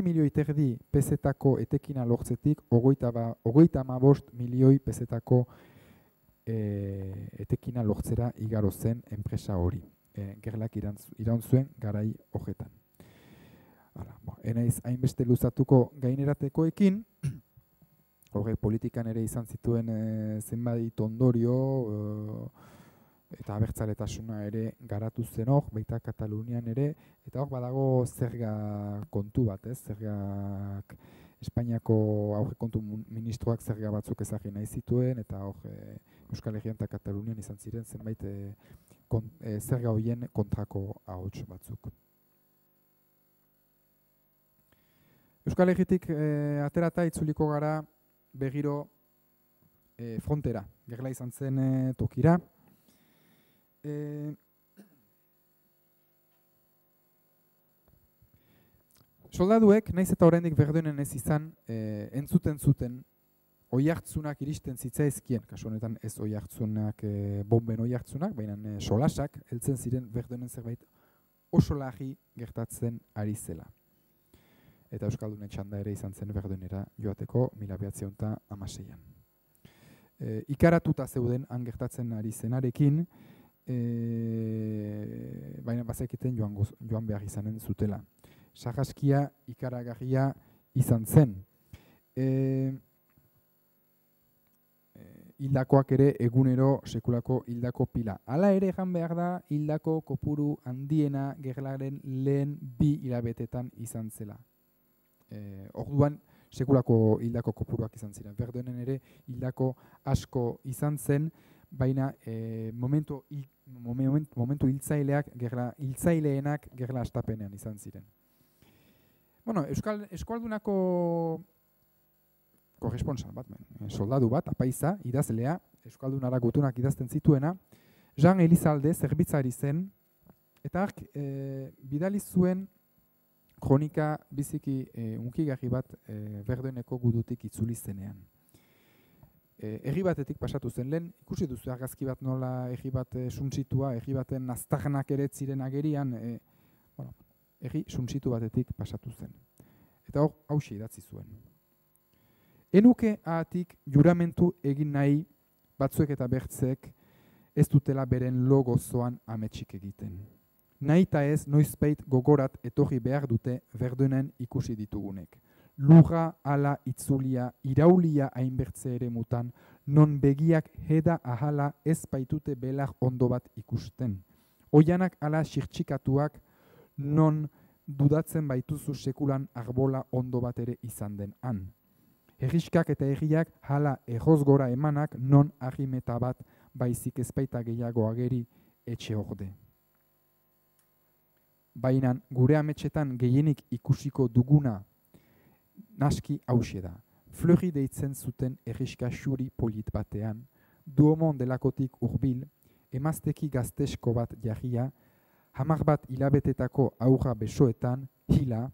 milioi terdi pesetako etekina lortzetik, 35 milioi pesetako etekina lortzera igaro zen enpresa hori. Gerlak iraun zuen garai horretan. Enaiz hainbeste luzatuko gaineratekoekin, horrek politikan ere izan zituen zenbait ondorio, eta abertzaletasuna ere garatu zen hor, baita Katalunian ere, eta hor badago zerga kontu bat, zergak Espainiako aurrekontu ministroak zerga batzuk ezagri nahi zituen, eta hor Euskal Herrian eta Katalunian izan ziren zenbait zerga horien kontrako ahots batzuk. Euskal Herritik aterata itzuliko gara berriro frontera, gerla izan zen tokira. Soldaduek, naiz eta oraindik Verdunen ez izan, entzuten zuten oihartzunak iristen zitzaizkien, kasu honetan ez oihartzunak, bomben oihartzunak, baina solasak, heltzen ziren Verdunen zerbait oso larri gertatzen ari zela. Eta Euskaldunen txanda ere izan zen Verdunera joateko 1916an. Ikaratuta zeuden han gertatzen ari zenarekin, baina bazekiten joan behar izanen zutela. Sarraskia ikaragarria izan zen. Hildakoak ere egunero sekulako hildako pila. Hala ere egan behar da hildako kopuru handiena gerlaren lehen 2 hilabetetan izan zela. Orduan sekulako hildako kopuruak izan ziren. Verdunen ere hildako asko izan zen, baina momentu hiltzaileenak gerla astapenean izan ziren. Bueno, Euskaldunako korresponsal bat, soldadu bat, apaiza, idazlea, Euskaldunara gutunak idazten zituena, Jean Elizalde zerbitzari zen, eta bidali zuen kronika biziki unkigarri bat Verduneko gudutik itzuli zenean. Herri batetik pasatu zen lehen, ikusi duzu argazki bat nola herri bat suntzitua, herri baten aztarnak ere ziren agerian, herri suntsitu batetik pasatu zen. Eta hor, hauxe idatzi zuen. Enuke ahatik juramentu egin nahi batzuek eta bertzek ez dutela beren lo gozoan ametsik egiten. Nahi eta ez noizbait gogorat etorri behar dute Verdenen ikusi ditugunek. Lurra, ala, itzulia, iraulia hainbertze ere mutan, non begiak heda ahala ez baitute belar ondo bat ikusten. Oianak ala xirtxikatuak, non dudatzen baituzu sekulan arbola ondo bat ere izan den han. Herriskak eta herriak hala erroz gora emanak, non arrimeta bat baizik ezpaita gehiago ageri etxe orde. Baina gure ametxetan gehienik ikusiko duguna naski hauxe da. Fleury deitzen zuten herriska xuri polit batean, Duomon delakotik hurbil, emazteki gaztesko bat jarria, hamar bat hilabetetako aurra besoetan, hila,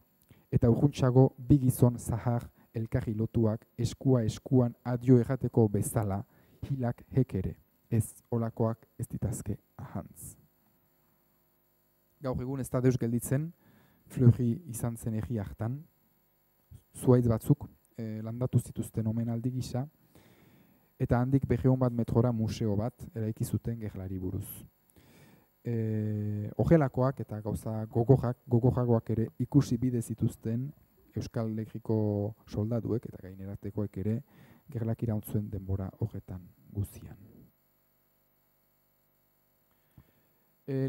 eta urruntxago bi gizon zahar elkarri lotuak eskua eskuan adio errateko bezala, hilak hekere, ez olakoak ez ditazke ahantz. Gaur egun ez da deus gelditzen, Fleury izan zen herri hartan, zuhaitz batzuk landatu zituzten omenaldi gisa, eta handik 200 bat metrora museo bat eraiki zuten gerlari buruz. Ogelakoak eta gauza gogojagoak ere ikusi bide zituzten Euskal Herriko soldaduek eta gaineratekoek ere gerlak irauntzuen denbora horretan guzian.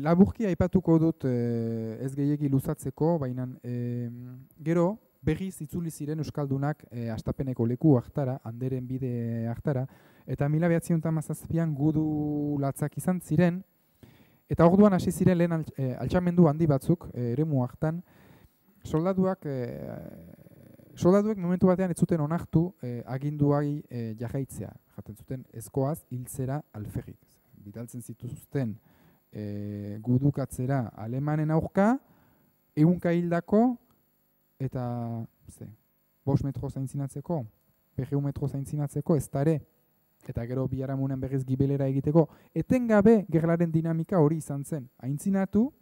Laburki aipatuko dut ez gehiegi luzatzeko, baina gero berriz itzuli ziren Euskaldunak astapeneko leku hartara, Anderen bide hartara, eta 1917an gudu latzak izan ziren, eta orduan hasi ziren lehen altxamendu handi batzuk eremu hartan, soldaduek momentu batean ez zuten onartu aginduai jarraitzea, jaten zuten ezkoaz hiltzera alferrik. Bidaltzen zituzten gudukatzera alemanen aurka, ehunka hildako, eta 5 metro zaintzinatzeko, 200 metro zaintzinatzeko, ez tare, eta gero biharamunen berriz gibelera egiteko, etengabe gerlaren dinamika hori izan zen. Aintzinatu,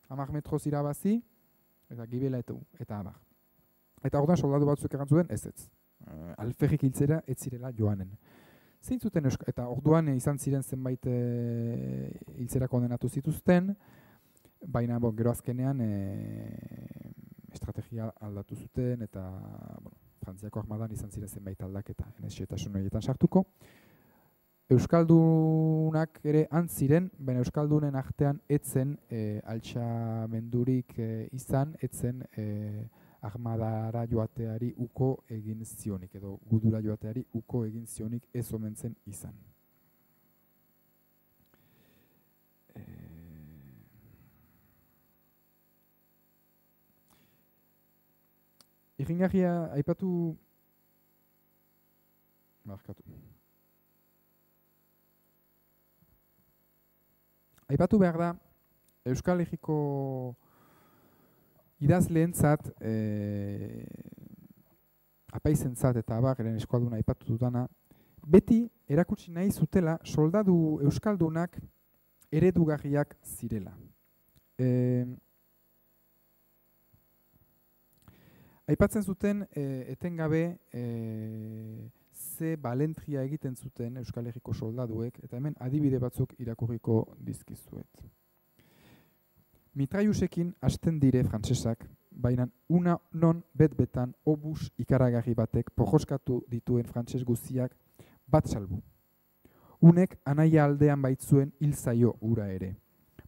10 metro irabazi, eta gibela eta abar. Eta orduan soldadu batzuk erantzuten, ez. Alferrik hiltzera ez zirela joanen. Zeintzuten eta orduan izan ziren zenbait hiltzera kondenatu zituzten, baina gero azkenean estrategia aldatu zuten eta Frantziako armadan izan ziren zenbait aldaketa, xehetasun horietan sartuko. Euskaldunak ere antziren, baina Euskaldunen artean etzen altxamendurik izan, etzen armadara joateari uko egin zionik, edo gudura joateari uko egin zionik ez omen zen izan. Irringarria aipatu behar da Euskal Herriko idazleentzat, apaizentzat eta abageren eskualduna aipatu dutana, beti erakutsi nahi zutela soldadu euskaldunak eredugarriak zirela. Aipatzen zuten etengabe ze balentria egiten zuten Euskal Herriko soldaduek, eta hemen adibide batzuk irakurriko dizkizuet. Mitraiusekin hasten dire frantsesak, baina una non bet-betan obus ikaragarri batek pojoskatu dituen frantses guztiak bat salbu. Unek anaia aldean baitzuen hil zaio ura ere.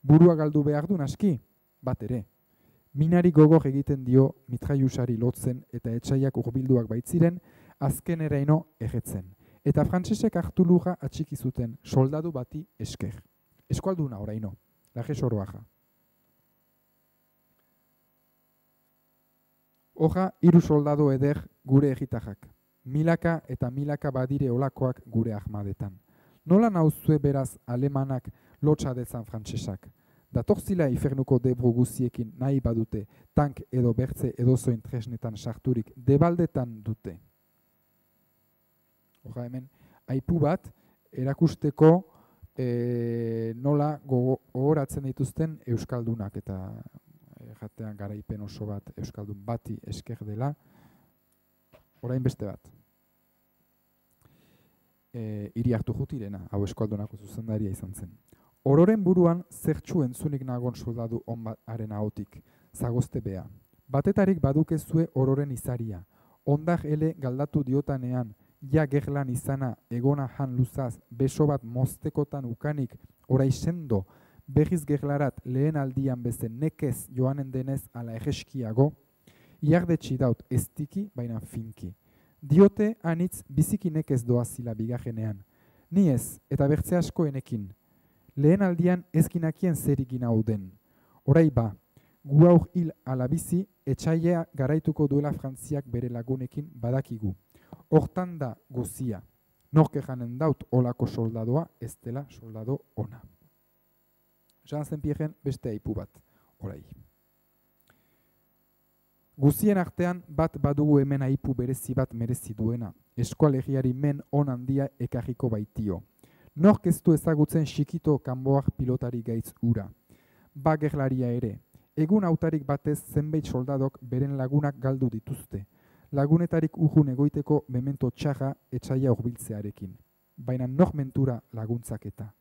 Burua galdu behar du naski, bat ere. Minari gogor egiten dio mitraiusari lotzen eta etxaiak hurbilduak baitziren, azken eraino erretzen. Eta frantsesek hartu lurra atxiki zuten soldadu bati esker. Eskualduna oraino, laje soroaja. Hoja, 3 soldado eder gure egitajak. Milaka eta milaka badire olakoak gure armadetan. Nola nauzue beraz alemanak lotsa dezan frantsesak? Datorzila ifernuko debro guziekin nahi badute, tank edo bertze edozoin tresnetan sarturik debaldetan dute. Hoja hemen, aipu bat erakusteko nola gogoratzen dituzten euskaldunak eta jatean garaipen oso bat euskaldun bati esker dela, orain beste bat. Iriarte Jutirena, hau Euskaldunako zuzendaria izan zen. Ororen buruan zertxu entzunik nagon soldadu onbaren ahotik, zagozte bea. Batetarik badukezue ororen izaria, ondak ele galdatu diotanean, ja gerlan izana egona jan luzaz, beso bat moztekotan ukanik, orai sendo, berriz gerlarat lehen aldian bezen nekez joanen denez ala egeskiago, iardetxi daut ez tiki, baina finki. Diote anitz biziki nekez doazila bigarrenean. Ni ez, eta bertze asko enekin. Lehen aldian ezkinakien zer egin hau den. Orai ba, gu aur hil alabizi, etxailea garaituko duela Frantziak bere lagunekin badakigu. Hortan da guzia. Norke janen daut olako soldadoa, ez dela soldado ona. Jean Saint-Pierren beste aipu bat, orai. Guzien artean bat badugu hemen aipu berezi bat merezi duena. Eskualegiari men on handia ekarriko baitio. Nork ez du ezagutzen xikito kanboak pilotari gaitz ura. Ba gerlaria ere. Egun hautarik batez zenbait soldadok beren lagunak galdu dituzte. Lagunetarik urrun egoiteko memento txarra etxaia horbiltzearekin. Baina nor mentura laguntzak eta.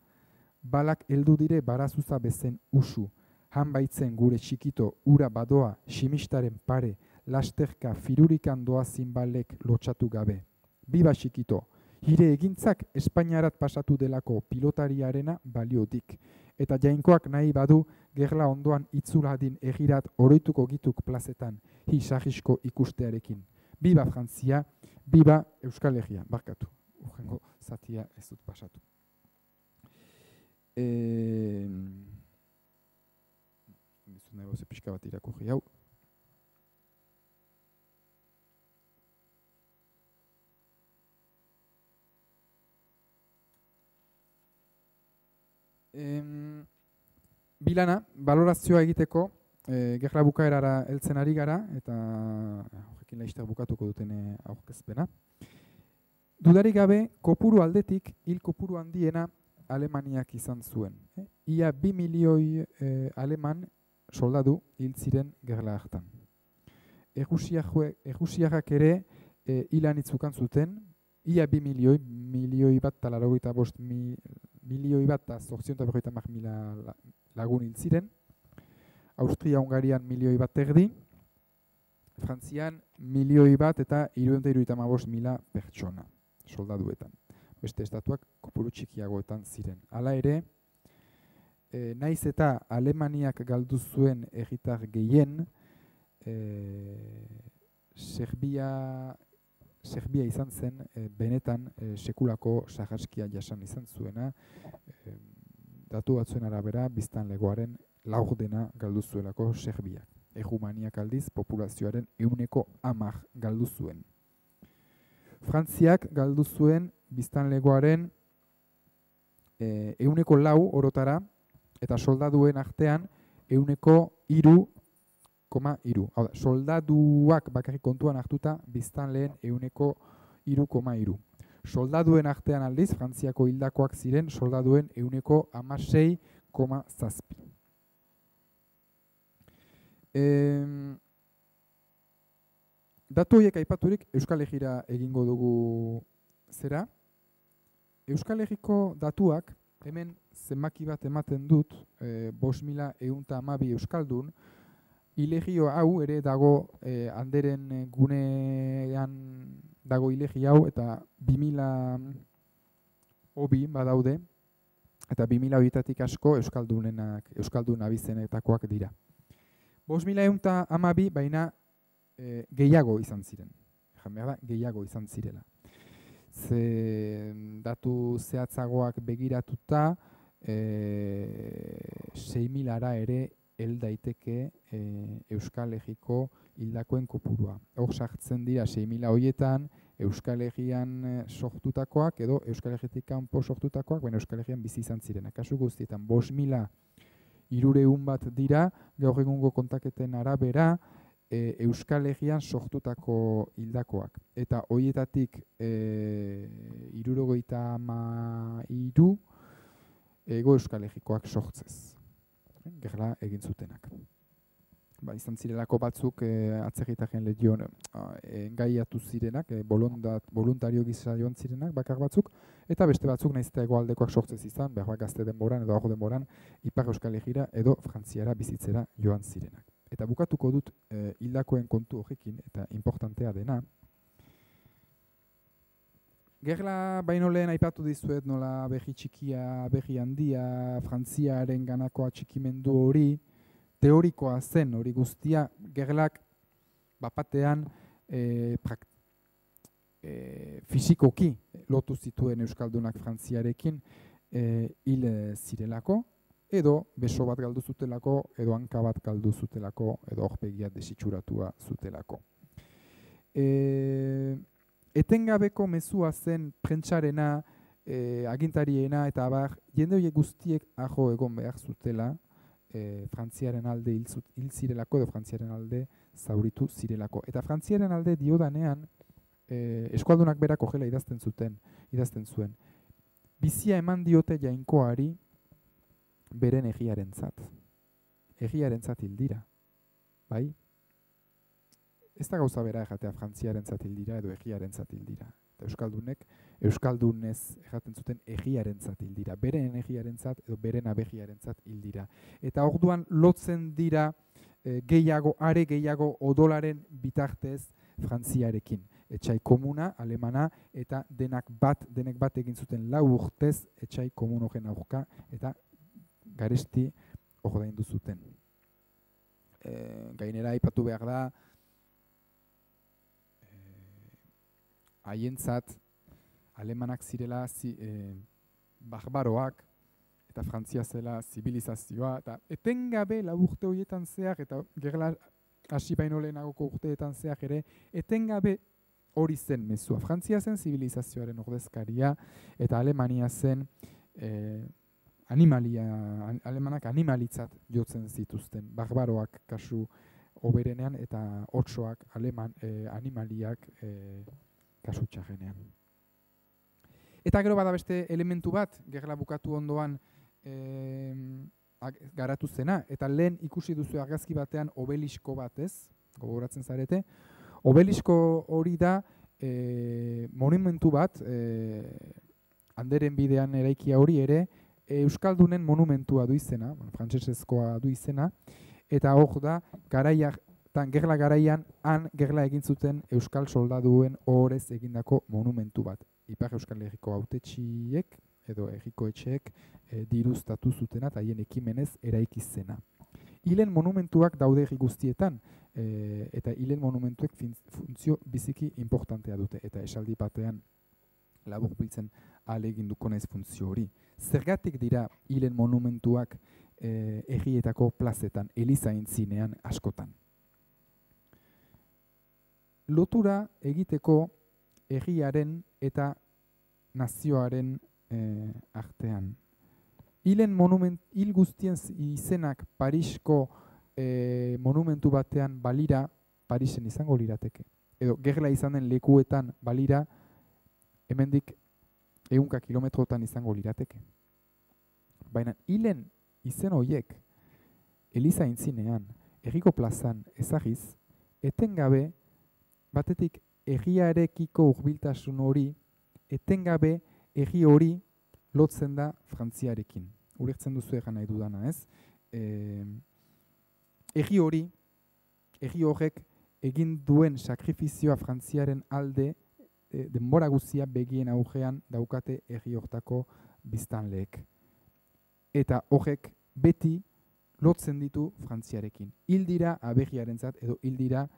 Balak heldu dire barazuza bezen usu. Han baitzen gure txikito ura badoa simistaren pare, lasterka firurikan doa zinbalek lotxatu gabe. Biba txikito, hire egintzak Espainiarat pasatu delako pilotariarena baliodik. Eta jainkoak nahi badu gerla ondoan itzuladin egirat oroituko gituk plazetan, hi sahisko ikustearekin. Biba Frantzia, biba Euskal Herria, barkatu. Urrengo zatia ez dut pasatu. Negozio pixka bat irakurri hau. Bilana, balorazioa egiteko, gerla bukaerara heltzen ari gara, eta horrekin laizter bukatuko duten aurkezpena. Dudarik gabe, kopuru aldetik, hil kopuru handiena Alemaniak izan zuen. Ia 2 milioi aleman soldadu hil ziren gerla hartan. Errusiarrak ere hilan itzukan zuten, ia 2 milioi bat eta 85 milioi bat eta 850.000 lagun hil ziren. Austria-Hungarian milioi bat erdi, Frantzian milioi bat eta 375.000 pertsona soldaduetan. Beste estatuak kopuru txikiagoetan ziren. Hala ere, naiz eta Alemaniak galdu zuen herritar gehien, Serbia izan zen benetan sekulako sarraskia jasan izan zuena, datu batzuen arabera biztanlegoaren laurdena galdu zuelako Serbiak. Errumaniak aldiz populazioaren 10% galdu zuen. Frantziak galdu zuen biztanlegoaren 4% orotara, eta soldaduen artean 3,3. Hau da, soldaduak bakarrik kontuan hartuta biztanleen 3,3. Soldaduen artean aldiz, Frantziako hildakoak ziren soldaduen 16,7. Datu horiek aipaturik Euskal Herrira egingo dugu zera. Euskal Herriko datuak hemen zenbaki bat ematen dut, 5.112 euskaldun, ilegio hau ere dago handeren gunean dago ilegi hau, eta 2.000 hobi badaude, eta 2.000 horietatik asko euskaldun abizenetakoak dira. 5.112 baina gehiago izan ziren. Gehiago izan zirela. Datu zehatzagoak begiratuta 6.000 ere hel daiteke Euskal Herriko hildakoen kopurua. Hor sartzen dira 6.000 horietan Euskal Herrian sortutakoak edo Euskal Herritik kanpo sortutakoak, baina Euskal Herrian bizi izan ziren. Kasu guztietan 5.300 bat dira, gaur egungo kontaketen arabera, Euskal Herrian sortutako hildakoak. Eta horietatik 73 Ego Euskal Herrikoak sortzez. Gerla egin zutenak. izan zirelako batzuk atzerritarren legion engaiatu zirenak, voluntario gisa joan zirenak, bakar batzuk, eta beste batzuk nahiz eta hegoaldekoak sortzez izan, behar gazte denboran edo aho denboran, Ipar Euskal Herrira edo Frantziara bizitzera joan zirenak. Eta bukatuko dut hildakoen kontu horrekin, eta importantea dena. Gerla baino lehen aipatu dizuet nola berri txikia, berri handia, Frantziaren ganako atxikimendu hori, teorikoa zen hori guztia, gerlak bapatean fisikoki lotu zituen Euskaldunak Frantziarekin hil zirelako, edo beso bat galdu zutelako, edo hanka bat galdu zutelako, edo aurpegia desitxuratua zutelako. Etengabeko mezua zen prentsarena, agintariena eta abar, jende horiek guztiek ajo egon behar zutela, Frantziaren alde hil zirelako edo Frantziaren alde zauritu zirelako. Eta Frantziaren alde diodanean, eskualdunak berak horrela idazten zuen. Bizia eman diote jainkoari beren egiarentzat. Egiarentzat hil dira. Bai? Ez da gauza bera ejatea Frantziarentzat hil dira edo egiarentzat hil dira. Eta euskaldunek, euskaldunez ejaten zuten egiarentzat hil dira. Beren egiarentzat edo beren abegiarentzat hil dira. Eta orduan lotzen dira are gehiago odolaren bitartez Frantziarekin. Etxai komuna, alemana, eta denek bat egin zuten 4 urtez etxai komun horren aurka, eta garesti ordaindu zuten. Gainera aipatu behar da, haientzat alemanak zirela barbaroak, eta Frantzia zela zibilizazioa, eta etengabe 4 urte horietan zehar, eta gerla hasi baino lehenagoko urteetan zehar ere, etengabe hori zen mezua. Frantzia zen zibilizazioaren ordezkaria, eta Alemania zen alemanak animalitzat jotzen zituzten, barbaroak kasu oberenean, eta otsoak animaliak kasu txarrenean. Eta gero bada beste elementu bat, gerla bukatu ondoan garatu zena, eta lehen ikusi duzu argazki batean obelisko bat, ez? Gogoratzen zarete. Obelisko hori da monumentu bat, Anderen bidean eraikia hori ere, Euskaldunen monumentua du izena, frantsesezkoa du izena, eta hor da, gerla garaian, gerla egin zuten Euskal soldaduen ohorez egindako monumentu bat. Ipar Euskal Herriko hautetsiek edo herriko etxeek diruztatu zutena eta haien ekimenez eraiki zena. Hilen monumentuak daude herri guztietan, eta hilen monumentuek funtzio biziki importantea dute, eta esaldi batean laburbiltzen ahaleginduko naiz funtzio hori. Zergatik dira hilen monumentuak herrietako plazetan, elizaintzinean askotan? Lotura egiteko herriaren eta nazioaren artean. Hil guztien izenak Parisko monumentu batean balira, Parisen izango lirateke. Edo gerla izanen lekuetan balira, hemendik 100 kilometrotan izango lirateke. Baina hilen izen horiek elizaintzinean, herriko plazan ezagiz, etengabe batetik herriarekiko hurbiltasun hori, etengabe herri hori lotzen da Frantziarekin. Ulertzen duzu egan nahi dudana, ez? Herri horrek egin duen sakrifizioa Frantziaren alde denbora guztia begien aurrean daukate herri hortako biztanleek. Eta horrek beti lotzen ditu Frantziarekin. Hil dira abegiarentzat edo hil dira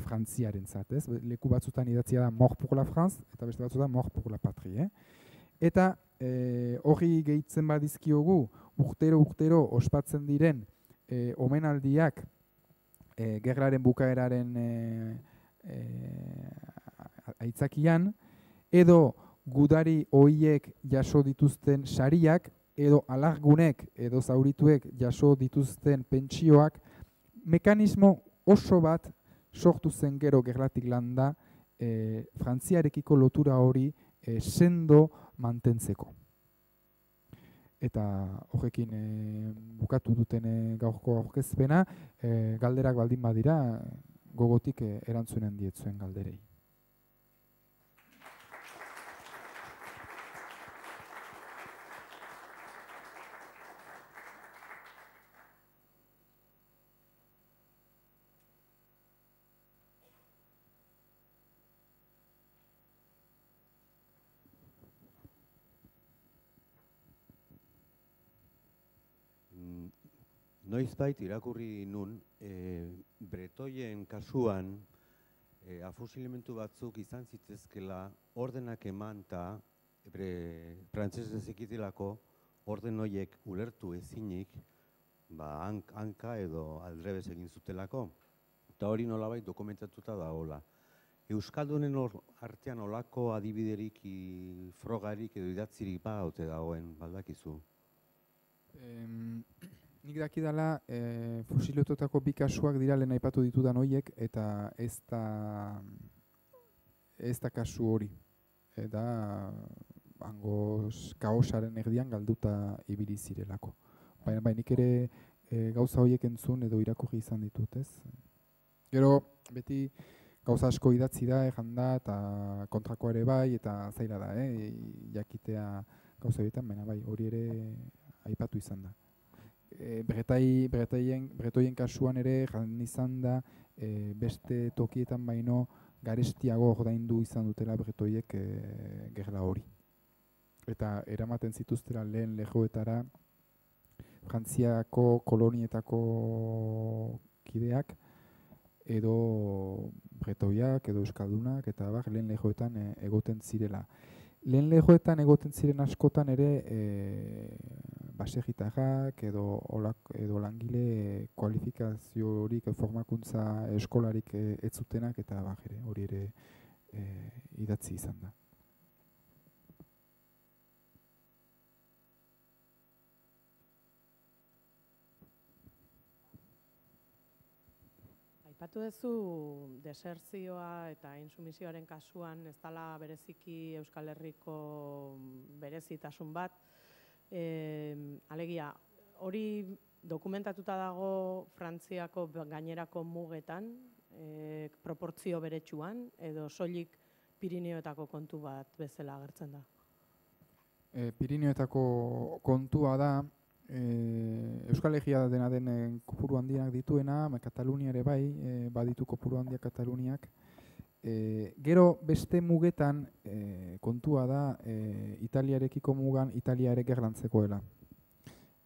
Frantziarentzat, ez? Leku batzutan idatzia da mort pour la France, eta beste batzutan mort pour la patrie. Eta hori gehitzen badizkiogu, urtero ospatzen diren omenaldiak gerlaren bukaeraren aitzakian, edo gudari hoiek jaso dituzten sariak, edo alargunek edo zaurituek jaso dituzten pentsioak, mekanismo oso bat sortu zen gero gerlatik landa Frantziarekiko lotura hori sendo mantentzeko. eta horrekin bukatu duten gaurko aurkezpena, galderak baldin badira, gogotik erantzunen dietzuen galderei. Noizbait irakurri nun, bretoien kasuan afusilimentu batzuk izan zitezkela ordenak eman eta frantsesez ekitelako orden horiek ulertu ezinik hanka edo aldrebes egin zutelako. Eta hori nolabait dokumentatuta dagoela. Euskaldunen artean olako adibiderik, frogarik edo idatzirik ote dagoen, baldakizu? Nik dakidala fusilotutako bi kasuak dira lehen aipatu ditudan horiek eta ez da kasu hori. Eta hangoz kaosaren erdian galduta ibili zirelako. Baina nik ere gauza horiek entzun edo irakurri izan ditut, ez? Gero beti gauza asko idatzi da, janda eta kontrakoa ere bai, eta zaila da, jakitea gauza horietan, baina bai, hori ere aipatu izan da. Bretoien kasuan ere jan izan da beste tokietan baino garestiago ordaindu izan dutela bretoiek gerla hori. Eta eramaten zituztela lehen lejoetara Frantziako kolonietako kideak edo bretoiak edo euskaldunak eta lehen lejoetan egoten zirela. Lehen lejoetan egoten ziren askotan ere baserritarrak edo langile kualifikaziorik formakuntza eskolarik ez zutenak eta hori ere idatzi izan da. Aipatu duzu desertzioa eta intsumisioaren kasuan ez dela bereziki Euskal Herriko berezitasun bat. Alegia, hori dokumentatuta dago Frantziako gainerako mugetan, proportzio beretsuan, edo soilik Pirineoetako kontu bat bezala agertzen da? Pirineoetako kontua da, Euskal Herria dena den kopuru handiak dituena, Katalunia ere bai, baditu kopuru handiak Kataluniak. Gero beste mugetan kontua da Italiarekiko mugan Italia ere gerlantzekoela.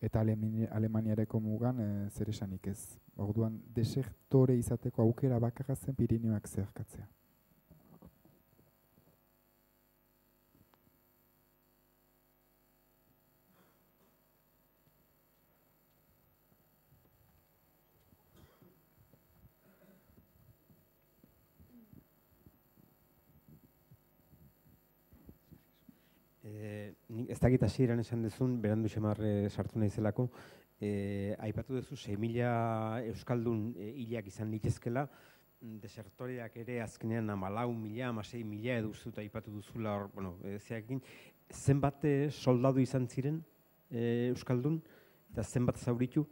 Eta Alemaniareko mugan zer esanik ez. Orduan desertore izateko aukera bakarra zen Pirineoak zeharkatzea. Ez dakit hasieran esan duzun, berandu xamarre sartu nahizelako, aipatu duzu 6.000 euskaldun hilak izan litezkela, desertoreak ere azkenean 14.000, 16.000 edo uste aipatu duzula hor, zeakin, zenbat soldadu izan ziren euskaldun eta zenbat zauritu?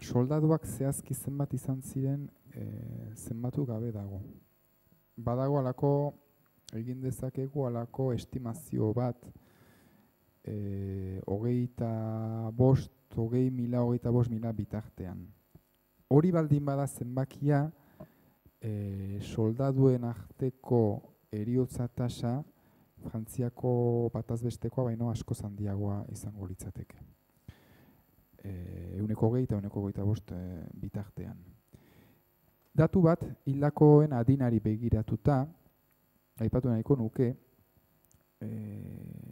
Soldaduak zehazki zenbat izan ziren zenbatu gabe dago. Badago alako egin dezakegu alako estimazio bat 25.000 bitartean. Hori baldin bada zenbakia soldaduen arteko heriotza tasa Frantziako batazbestekoa baino asko handiagoa izango litzateke. 120 eta 125 bitartean. Datu bat hildakoen adinari begiratuta aipatu nahiko nuke,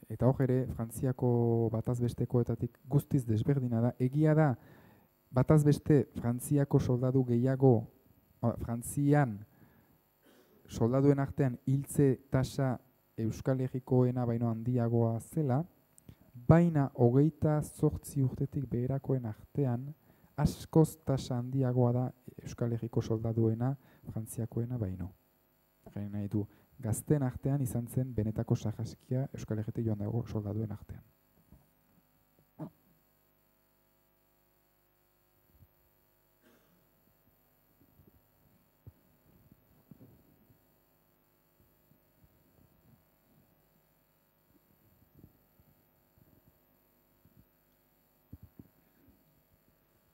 eta hor ere Frantziako batazbestekoetatik guztiz desberdina da. Egia da batazbeste Frantziako soldadu gehiago, Frantzian soldaduen artean hiltze tasa Euskal Herrikoena baino handiagoa zela, baina 28 urtetik beherakoen artean askoz tasa handiagoa da Euskal Herriko soldaduena Frantziakoena baino. Nahi du, gazteen artean izan zen benetako sarraskia Euskal Herritik joan dago soldaduen artean.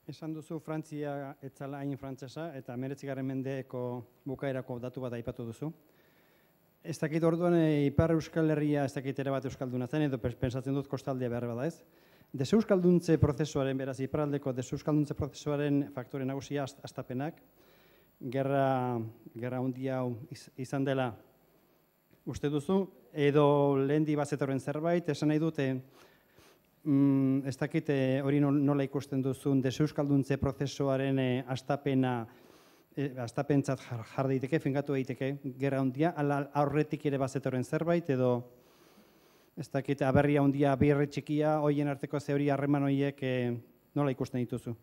Esan duzu Frantzia etzala hain frantsesa eta 19. mendeko bukaerako datu bat aipatu duzu. Ez dakit orduan Ipar Euskal Herria ez dakit ere bat euskalduna zen edo pentsatzen dut kostaldea behar bada ez. Deseuskalduntzen prozesuaren, beraz iparraldeko deseuskalduntzen prozesuaren faktore nagusia hastapenak, gerra handia hau izan dela uste duzu, edo lehendi bazetorren zerbait, esan nahi dute, ez dakit hori nola ikusten duzun deseuskalduntzen prozesuaren hastapentzat jar daiteke, fingatu daiteke gerra handia, aurretik ere bazetorren zerbait, edo ez dakit aberria handia, birre txikia, hoien arteko ze hori harreman horiek nola ikusten dituzu?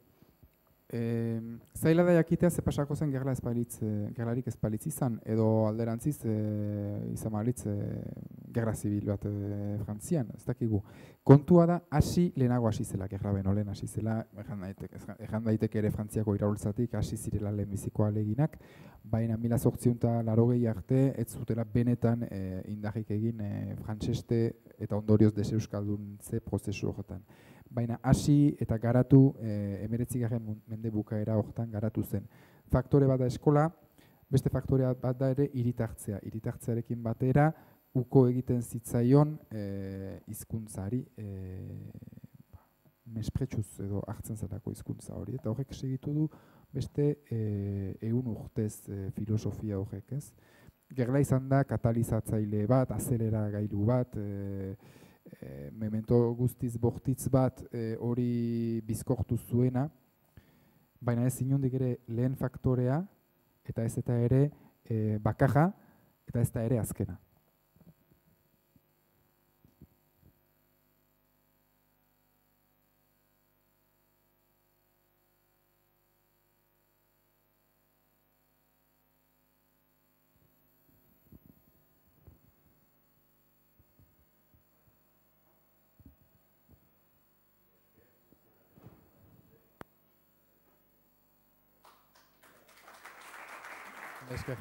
Zaila da jakitea ze pasako zen gerlarik ez balitz izan, edo alderantziz izan balitz gerra zibil bat Frantzian, ez dakigu. Kontua da, lehenago hasi zela, gerra beno lehen hasi zela, ejan daiteke ere Frantziako iraultzatik hasi zirela lehenbiziko aleginak, baina 1880 arte ez zutela benetan indarrik egin frantseste eta ondorioz deseuskaldun prozesu horretan. Baina hasi eta garatu 19. mende bukaera horretan garatu zen. Faktore bat da eskola, beste faktorea bat da ere hiritartzea. Hiritartzearekin batera uko egiten zitzaion hizkuntzari mespretsuz edo hartzen zelako hizkuntza hori. Eta horrek segitu du beste 100 urtez filosofia horrek, ez? Gerla izan da katalizatzaile bat, azeleragailu bat, memento guztiz bortitz bat hori bizkortu zuena, baina ez inondik ere lehen faktorea, eta ez eta ere bakarra, eta ez da ere azkena. Esker.